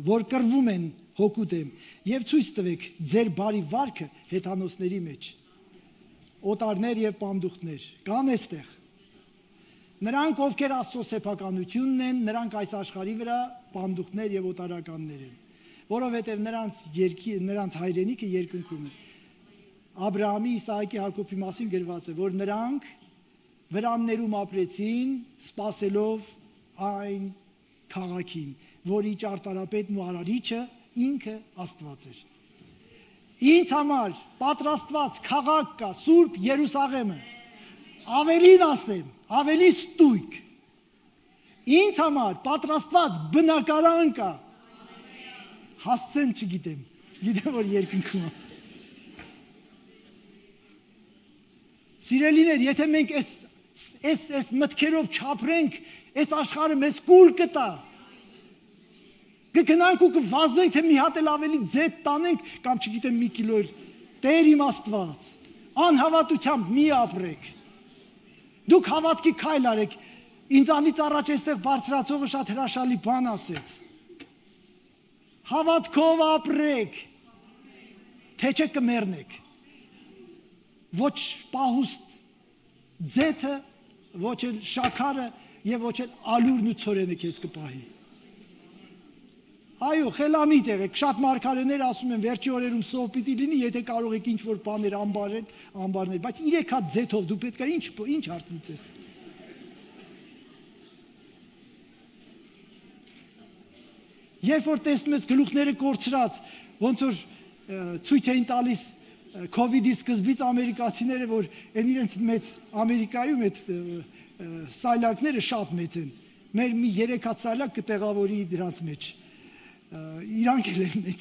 որ կռվում են հոգու դեմ, եւ ցույց տվեք ձեր բարի վարքը հեթանոսների մեջ։ Օտարներ եւ պանդուխներ կան այստեղ։ Նրանք, ովքեր Աստծո սեփականությունն են, նրանք այս աշխարհի վրա պանդուխներ եւ օտարականներ են, որովհետեւ նրանց երկի, նրանց հայրենիքը երկնքում է։ Աբրահամի, Իսահակի, Հակոբի մասին գրված է, որ նրանք վրաններում ապրեցին, սпасելով այն քաղաքին, որի ճարտարապետն ու արարիչը ինքը Աստված էր։ Ինձ համար պատրաստված քաղաք կա, Սուրբ Երուսաղեմը, ավելին ասեմ, ավելի ստույգ, ինձ համար պատրաստված բնակարան կա, հասցեն չգիտեմ, գիտեմ, որ երկնքում է։ Սիրելիներ, եթե մենք այս մտքերով չապրենք, այս աշխարհը մեզ կուլ կտա, կգնանք ու կվազենք, թե մի հատ էլ ավելի ձետ տանենք, կամ չգիտեմ մի կիլո էլ, Տեր իմ Աստված, անհավատությամբ մի ապրեք, դուք հավատքի քայլ արեք, ինձանից առաջ այստեղ բարձրացողը շատ հրաշալի բան ասեց, հավատքով ապրեք, թե չէ կմեռնեք, ոչ պահուստ ձեթը, ոչ էլ շաքարը եւ ոչ էլ ալուրն ու ցորենը քեզ կպահի։ Այո, խելամիտ եղեք, շատ մարգարեներ ասում են վերջի օրերում սով պիտի լինի, եթե կարող եք ինչ-որ բաներ ամբարել, ամբարներ, բայց երեք հատ ձեթով դու պետք է ինչ, ինչ հարց լուծես։ Երբ որ տեսնում ես գլուխները կորցրած, ոնց որ ցույց էին տալիս Քովիդի սկզբից ամերիկացիները, որ այն իրենց մեծ Ամերիկայում այդ սայլակները շատ մեծ են, մեր մի երեք հատ սայլակ կտեղավորի դրանց մեջ։ Իրանք էլ են մեծ։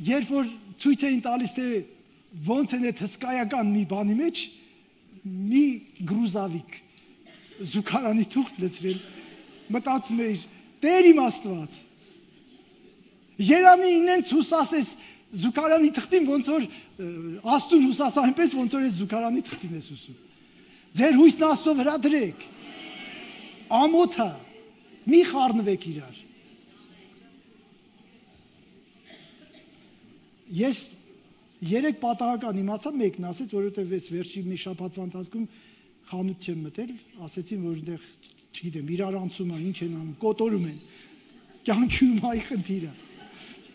Երբ որ ցույց էին տալիս, թե ոնց են այդ հսկայական մի բանի մեջ, մի գրուզավիկ զուգարանի թուղթ լցրել, մտածում էիր, Տեր իմ Աստված, երանի ինենց հուսասես զուգարանի թղթին, ոնց որ Աստուն հուսաս այնպես, ոնց որ այս զուգարանի թղթին ես հուսում։ Ձեր հույսն Աստծո վրա դրեք։ Ամոթը, մի խառնվեք իրար։ Ես երեք պատահական իմացա, մեկն ասեց, որովհետև ես վերջի մի շաբաթվա ընթացքում խանութ չեմ մտել, ասեցին, որ այնտեղ, չգիտեմ, իրար անցում են, ինչ են անում, կոտորում են։ Կյանքի մայի խնդիրը։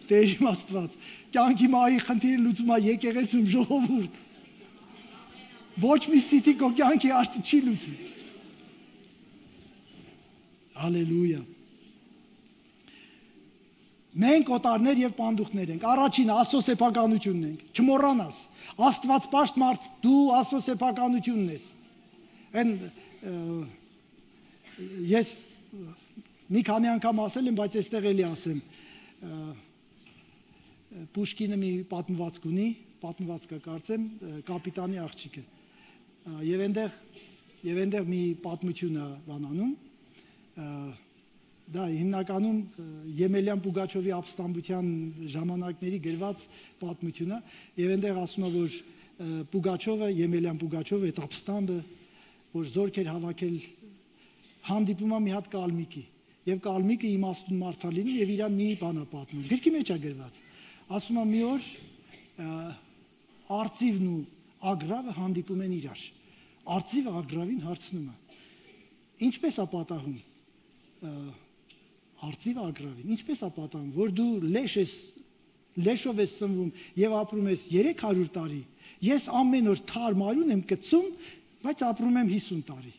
Տեր իմ Աստված, կյանքի մայի խնդիրը լուծում է եկեղեցում ժողովուրդ։ Ոչ մի սիտի քո կյանքի հարցը չի լուծի։ Հալելույա։ Մենք օտարներ եւ պանդուխներ ենք։ Առաջինը Աստծո սեփականությունն ենք։ Չմոռանաս, Աստվածպաշտ մարդ, դու Աստծո սեփականությունն ես։ Այն ես մի քանի անգամ ասել եմ, բայց այստեղ էլի ասեմ։ Պուշկինը մի պատմվածք ունի, պատմվածքը կարծեմ, կապիտանի աղջիկը։ Եվ այնտեղ եւ այնտեղ մի պատմություն է բանանում։ Դա հիմնականում Եմելյան Պուգաչովի ապստամբության ժամանակների գրված պատմություն է, եւ այնտեղ ասում է, որ Պուգաչովը, Եմելյան Պուգաչովը այդ ապստամբը, որ զորք էր հավաքել, հանդիպում է մի հատ կալմիկի, եւ կալմիկը իմաստուն մարդ է լինում եւ իրան մի բան է պատմում։ Գրքի մեջ է գրված։ Ասում է մի օր արծիվն ու ագրավը հանդիպում են իրար։ Արծիվը ագրավին հարցնում է. Ինչպես է պատահում արծիվը ագրավին, ինչպես է պատահում, որ դու լեշ ես, լեշով ես սնվում եւ ապրում ես երեք հարյուր տարի, ես ամեն օր թարմ արյուն եմ կծում, բայց ապրում եմ հիսուն տարի։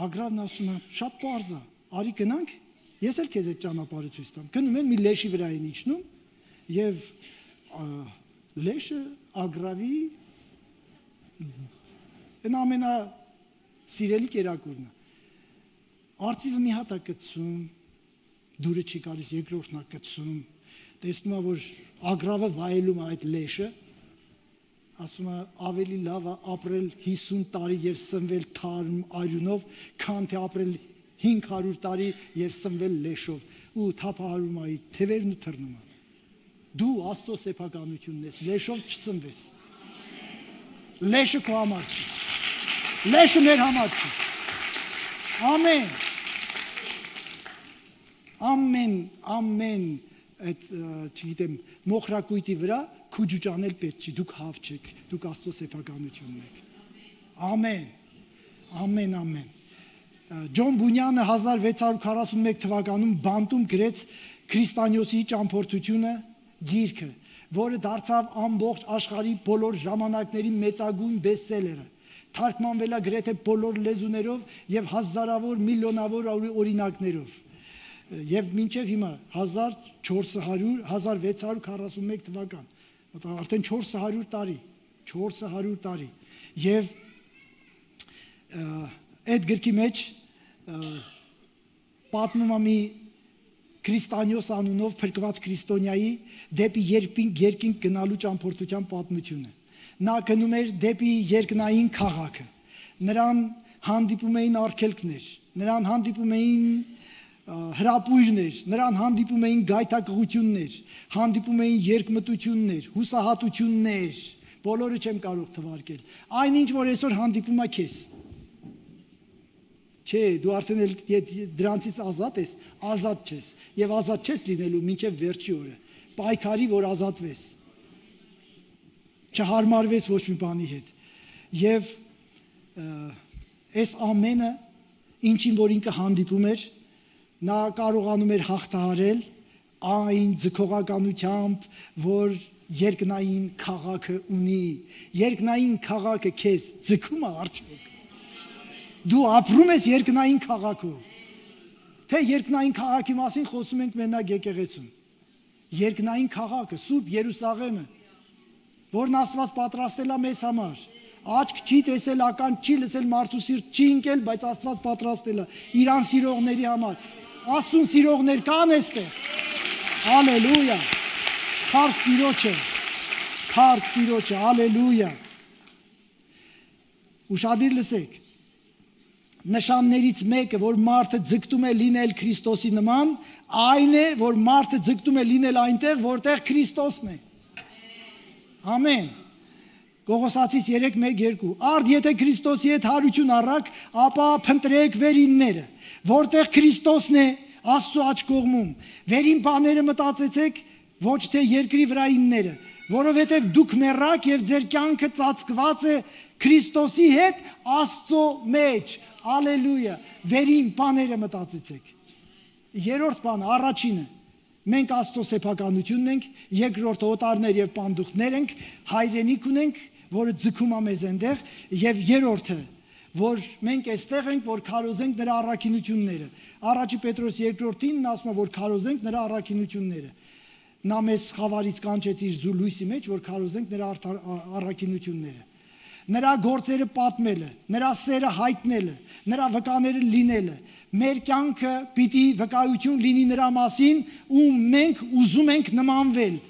Ագրավն ասում է, շատ պարզ է, արի գնանք, ես էլ քեզ այդ ճանապարհը ցույց տամ։ Գնում են, մի լեշի վրա են իջնում եւ լեշը ագրավի այն ամենա սիրելի կերակուրն է։ Արծիվը մի հատ է կծում, դուրը չի գալիս, երկրորդն է կծում, տեսնում է, որ ագրավը վայելում է այդ լեշը ասում է ավելի լավ է ապրել հիսուն տարի եւ սնվել թարմ արյունով, քան թե ապրել հինգ հարյուր տարի եւ սնվել լեշով ու թափահարում այ թևերն ու թռնում։ Դու Աստծո սեփականությունն ես, լեշով չսնվես։ Լեշը քո համար չի։ Լեշը մեր համար չի։ Ամեն։ Ամեն, ամեն այդ չգիտեմ մոխրակույտի վրա քուջուճանել պետք չի, դուք հավ չեք, դուք Աստծո սեփականությունն եք։ Ամեն, ամեն, ամեն։ Ջոն Բունյանը հազար վեց հարյուր քառասունմեկ թվականում բանտում գրեց Քրիստանյոսի ճամփորդությունը գիրքը, որը դարձավ ամբողջ աշխարհի բոլոր ժամանակների մեծագույն բեսթսելերը։ Թարգմանվել է գրեթե բոլոր լեզուներով եւ հազարավոր միլիոնավոր օրինակներով։ Եվ մինչև հիմա հազար չորս հարյուր հազար վեց հարյուր քառասունմեկ թվական, արդեն չորս հարյուր տարի, չորս հարյուր տարի։ Եվ այդ գրքի մեջ պատմում է մի Քրիստանյոս անունով փրկված քրիստոնյայի դեպի երկինք գնալու ճամփորդության պատմությունը։ Նա գնում էր դեպի երկնային քաղաքը։ Նրան հանդիպում էին արգելքներ, նրան հանդիպում էին հրապույրներ, նրան հանդիպում էին գայթակղություններ, հանդիպում էին երկմտություններ, հուսահատություններ, բոլորը չեմ կարող թվարկել։ Այնինչ, որ այսօր հանդիպում է քեզ։ Չէ, դու արդեն դրանցից ազատ ես, ազատ չես, եւ ազատ չես լինելու մինչև վերջի օրը։ Պայքարի, որ ազատվես։ Չհարմարվես ոչ մի բանի հետ։ Եվ այս ամենը, ինչին որ ինքը հանդիպում էր, նա կարողանում էր հաղթահարել այն ձգողականությամբ, որ երկնային քաղաքը ունի։ Երկնային քաղաքը քեզ ձգում է արդյոք։ Դու ապրում ես երկնային քաղաքում։ Թե երկնային քաղաքի մասին խոսում ենք մենակ եկեղեցում։ Երկնային քաղաքը, Սուրբ Երուսաղեմը, որն Աստված պատրաստել է մեզ համար։ Աչք չի տեսել, ական չի լսել, մարդու սիրտ չի ընկել, բայց Աստված պատրաստել է իրան սիրողների համար։ Աստծուն սիրողներ կան այստեղ։ Հալելույա։ Փառք Տիրոջը։ Փառք Տիրոջը, հալելույա։ Ուշադիր լսեք։ Նշաններից մեկը, որ մարդը ձգտում է լինել Քրիստոսի նման, այն է, որ մարդը ձգտում է լինել այնտեղ, որտեղ Քրիստոսն է։ Ամեն։ Կողոսացիս երեք մեկ երկու։ Արդ եթե Քրիստոսի հետ հարություն առաք, ապա փնտրեք վերինները, որտեղ Քրիստոսն է Աստծո աջ կողմում։ Վերին բաները մտածեցեք, ոչ թե երկրի վրայինները, որովհետև դուք մեռաք եւ ձեր կյանքը ծածկված է Քրիստոսի հետ Աստծո մեջ։ Ալելույա։ Վերին բաները մտածեցեք։ Երրորդ բանը, առաջինը, մենք Աստծո սեփականությունն ենք, երկրորդը օտարներ եւ պանդուխտներ ենք, հայրենիք ունենք, որը ձգում է մեզ այնտեղ, եւ երրորդը, որ մենք այստեղ ենք, որ քարոզենք նրա առաքինությունները։ Առաջի Պետրոս երկրորդին ասում է, որ քարոզենք նրա առաքինությունները։ Նա մեզ խավարից կանչեց իր զուլույսի մեջ, որ քարոզենք նրա առաքինությունները։ Նրա գործերը պատմելը, նրա սերը հայտնելը, նրա վկաները լինելը, մեր կյանքը պիտի վկայություն լինի նրա մասին, ու մենք ուզում ենք նմանվել։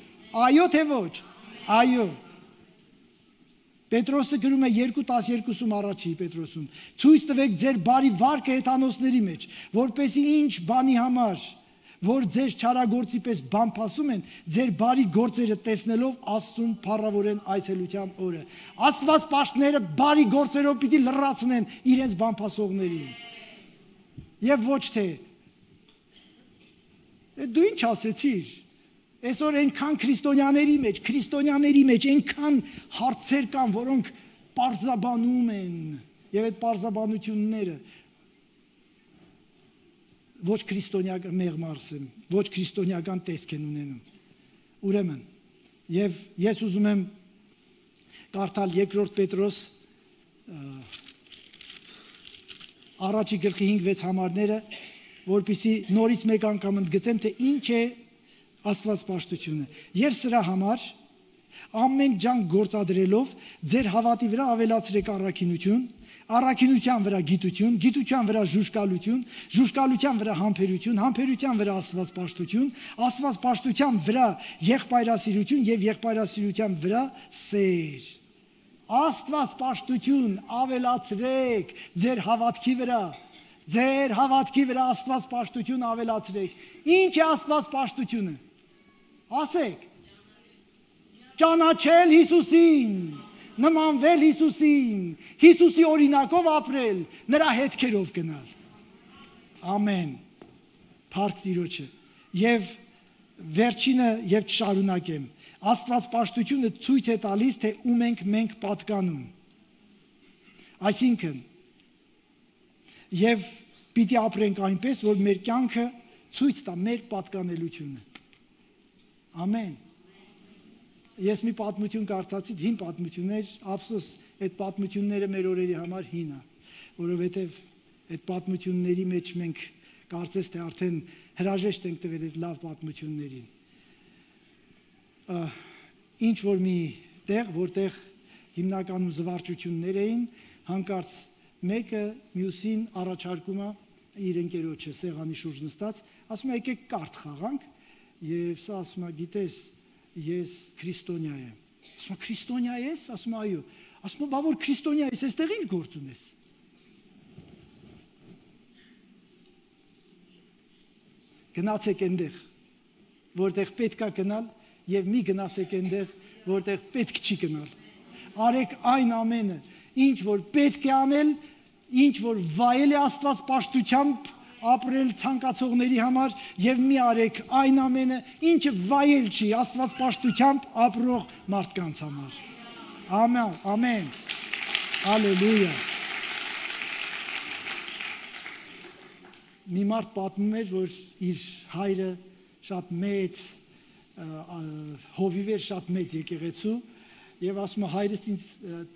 Այո թե ոչ։ Այո։ Պետրոսը գրում է երկու տասներկուսում առաջի Պետրոսում. ցույց տվեք ձեր բարի վարկը հեթանոսների մեջ, որպեսզի ինչ բանի համար, որ ձեր չարագործի պես բամփասում են, ձեր բարի գործերը տեսնելով Աստծուն փառավորեն այցելության օրը։ Աստված պաշտները բարի գործերով պիտի լրացնեն իրենց բամփասողներին։ Եվ ոչ թե դու ինչ ասեցիր։ Այսօր այնքան քրիստոնյաների մեջ, քրիստոնյաների մեջ այնքան հարցեր կան, որոնք պարզաբանում են, եւ այդ պարզաբանությունները ոչ քրիստոնյական մեղմարսեն, ոչ քրիստոնյական տեսք են ունենում։ Ուրեմն, եւ ես ուզում եմ կարդալ երկրորդ Պետրոս առաջի գլխի հինգ վեց համարները, որպեսզի նորից մեկ անգամ ընդգծեմ, թե ինչ է Աստված պաշտությունը։ Եվ սրա համար ամեն ջանք գործադրելով ձեր հավատի վրա ավելացրեք առաքինություն, առաքինության վրա գիտություն, գիտության վրա ժուժկալություն, ժուժկալության վրա համբերություն, համբերության վրա Աստված պաշտություն, Աստված պաշտության վրա եղբայրասիրություն եւ եղբայրասիրության վրա սեր։ Աստված պաշտություն ավելացրեք ձեր հավատքի վրա, ձեր հավատքի վրա Աստված պաշտություն ավելացրեք։ Ինչ է Աստված պաշտությունը։ Ասեք։ Ճանաչել Հիսուսին, նմանվել Հիսուսին, Հիսուսի օրինակով ապրել, նրա հետքերով գնալ։ Ամեն։ Փառք Տիրոջը։ Եվ վերջինը եւ չշարունակեմ։ Աստված պաշտությունը ցույց է տալիս, թե ում ենք մենք պատկանում։ Այսինքն, եւ պիտի ապրենք այնպես, որ մեր կյանքը ցույց տա մեր պատկանելությունը։ Ամեն։ Ես մի պատմություն կարդացի, հին պատմություններ, ափսոս, այդ պատմությունները մեր օրերի համար հին է, որովհետեւ այդ պատմությունների մեջ մենք կարծես թե արդեն հրաժեշտ ենք տվել այդ լավ պատմություններին։ Ինչ որ մի տեղ, որտեղ հիմնականում զվարճություններ էին, հանկարծ մեկը մյուսին առաջարկում է իր ընկերոջը սեղանի շուրջ նստած, ասում է եկեք կարդ խաղանք, եւ սա ասում է գիտես, ես քրիստոնյա եմ։ Ասում է քրիստոնյա ես, ասում է այո, ասում է բա որ քրիստոնյա ես, այստեղ ինչ գործ ունես։ Գնացեք այնտեղ, որտեղ պետք է գնալ, եւ մի գնացեք այնտեղ, որտեղ պետք չի գնալ։ Արեք այն ամենը, ինչ որ պետք է անել, ինչ որ վայել է Աստված պաշտությամբ ապրել ցանկացողների համար, եւ մի արեք այն ամենը, ինչը վայել չի Աստված պաշտությամբ ապրող մարդկանց համար։ Ամեն, ամեն։ Հալելույա։ Մի մարդ պատմում էր, որ իր հայրը շատ մեծ հովիվ էր, շատ մեծ եկեղեցու, եւ ասում է հայրս ինձ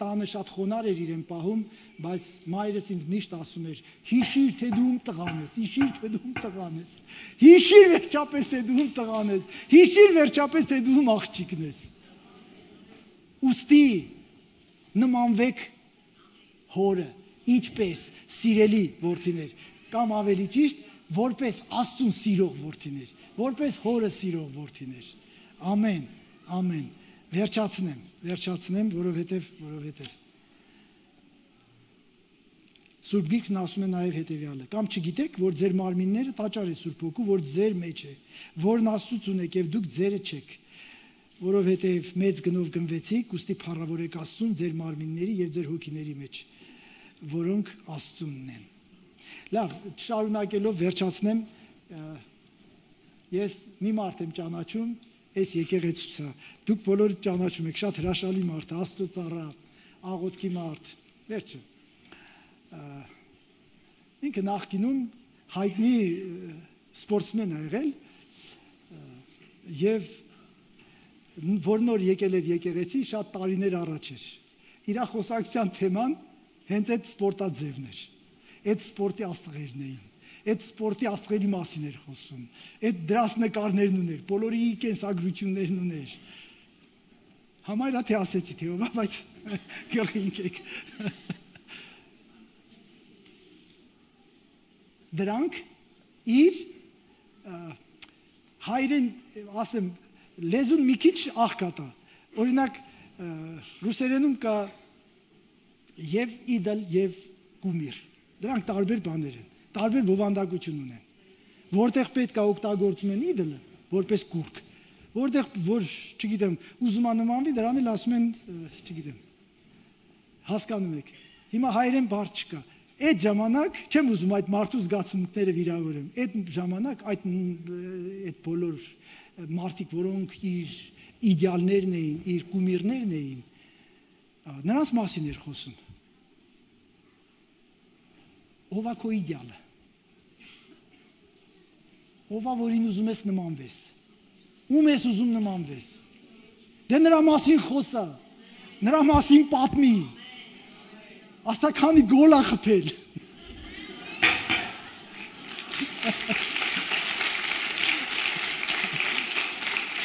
տանը շատ խոնար էր իրեն պահում, բայց մայրս ինձ միշտ ասում էր. հիշիր, թե դու ում տղան ես, հիշիր, թե դու ում տղան ես, հիշիր վերջապես, թե դու ում տղան ես, հիշիր վերջապես, թե դու ում աղջիկն ես։ Ուստի նմանվեք հորը, ինչպես սիրելի որդիներ, կամ ավելի ճիշտ, որպես Աստծուն սիրող որդիներ, որպես հորը սիրող որդիներ։ Ամեն, ամեն։ Վերջացնեմ, վերջացնեմ, որովհետև, որովհետև Սուրբ Գիրքն ասում է նաև հետևյալը. կամ չգիտեք, որ ձեր մարմինները տաճար է Սուրբ Հոգու, որ ձեր մեջ է, որն Աստծուց ունեք եւ դուք ձերը չեք, որովհետև մեծ գնով գնվեցիք, ուստի փառավորեք Աստծուն ձեր մարմինների եւ ձեր հոգիների մեջ, որոնք Աստծունն են։ Լավ, շարունակելով վերջացնեմ, ես մի մարդ եմ ճանաչում, այս եկեղեցուցա, դուք բոլորը ճանաչում եք, շատ հրաշալի մարդ, Աստծո ծառա, աղոթքի մարդ, վերջը։ Ինքը նախկինում հայտնի սպորտսմեն է եղել եւ որ նոր եկել էր եկեղեցի, շատ տարիներ առաջ էր։ Իր խոսակցության թեման հենց այդ սպորտաձևն էր։ Այդ սպորտի աստղերն էին, այդ սպորտի աստղերի մասին էր խոսում, այդ դրած նկարներն ուներ, բոլորի կենսագրություններն ուներ։ Համայրա թե ասեցի թե ով, բայց գլխի ընկեք։ Դրանք իր հայրեն, ասեմ, լեզուն մի քիչ աղքատա։ Օրինակ, ռուսերենում կա եւ իդոլ եւ կումիր։ Դրանք տարբեր բաներ են, տարբեր բովանդակություն ունեն։ Որտեղ պետք է օգտագործում են իդոլը, որպես կուրք, որտեղ որ, չգիտեմ, ուզում է նմանվի, դրան էլ ասում են, չգիտեմ, հասկանում եք։ Հիմա հայերեն բառ չկա։ Այդ ժամանակ, չեմ ուզում այդ մարդու զգացմունքները վիրավորեմ, այդ ժամանակ այդ այդ բոլոր մարդիկ, որոնք իր իդեալներն էին, իր կումիրներն էին, նրանց մասին էր խոսում։ Ով է քո իդեալը։ Ով է, որին ուզում ես նմանվես։ Ում ես ուզում նմանվես։ Դե նրա մասին խոսա, նրա մասին պատմի։ Ասա քանի գոլ ա խփել։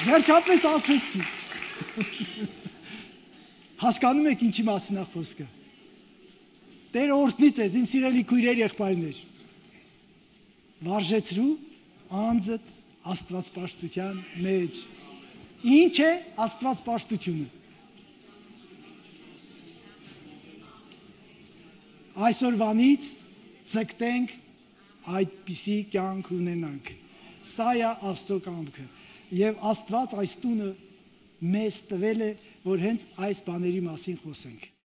Վերջապես ասեցի։ Հասկանում եք ինչի մասին է խոսքը։ Տերը օրհնի ձեզ, իմ սիրելի քույրեր, եղբայրներ։ Վարժեցրու անձդ Աստվածպաշտության մեջ։ Ինչ է Աստվածպաշտությունը։ Այսօրվանից ձգտենք այդպիսի կյանք ունենանք։ Սա է Աստծո կամքը։ Եվ Աստված այս տունը մեզ տվել է, որ հենց այս բաների մասին խոսենք։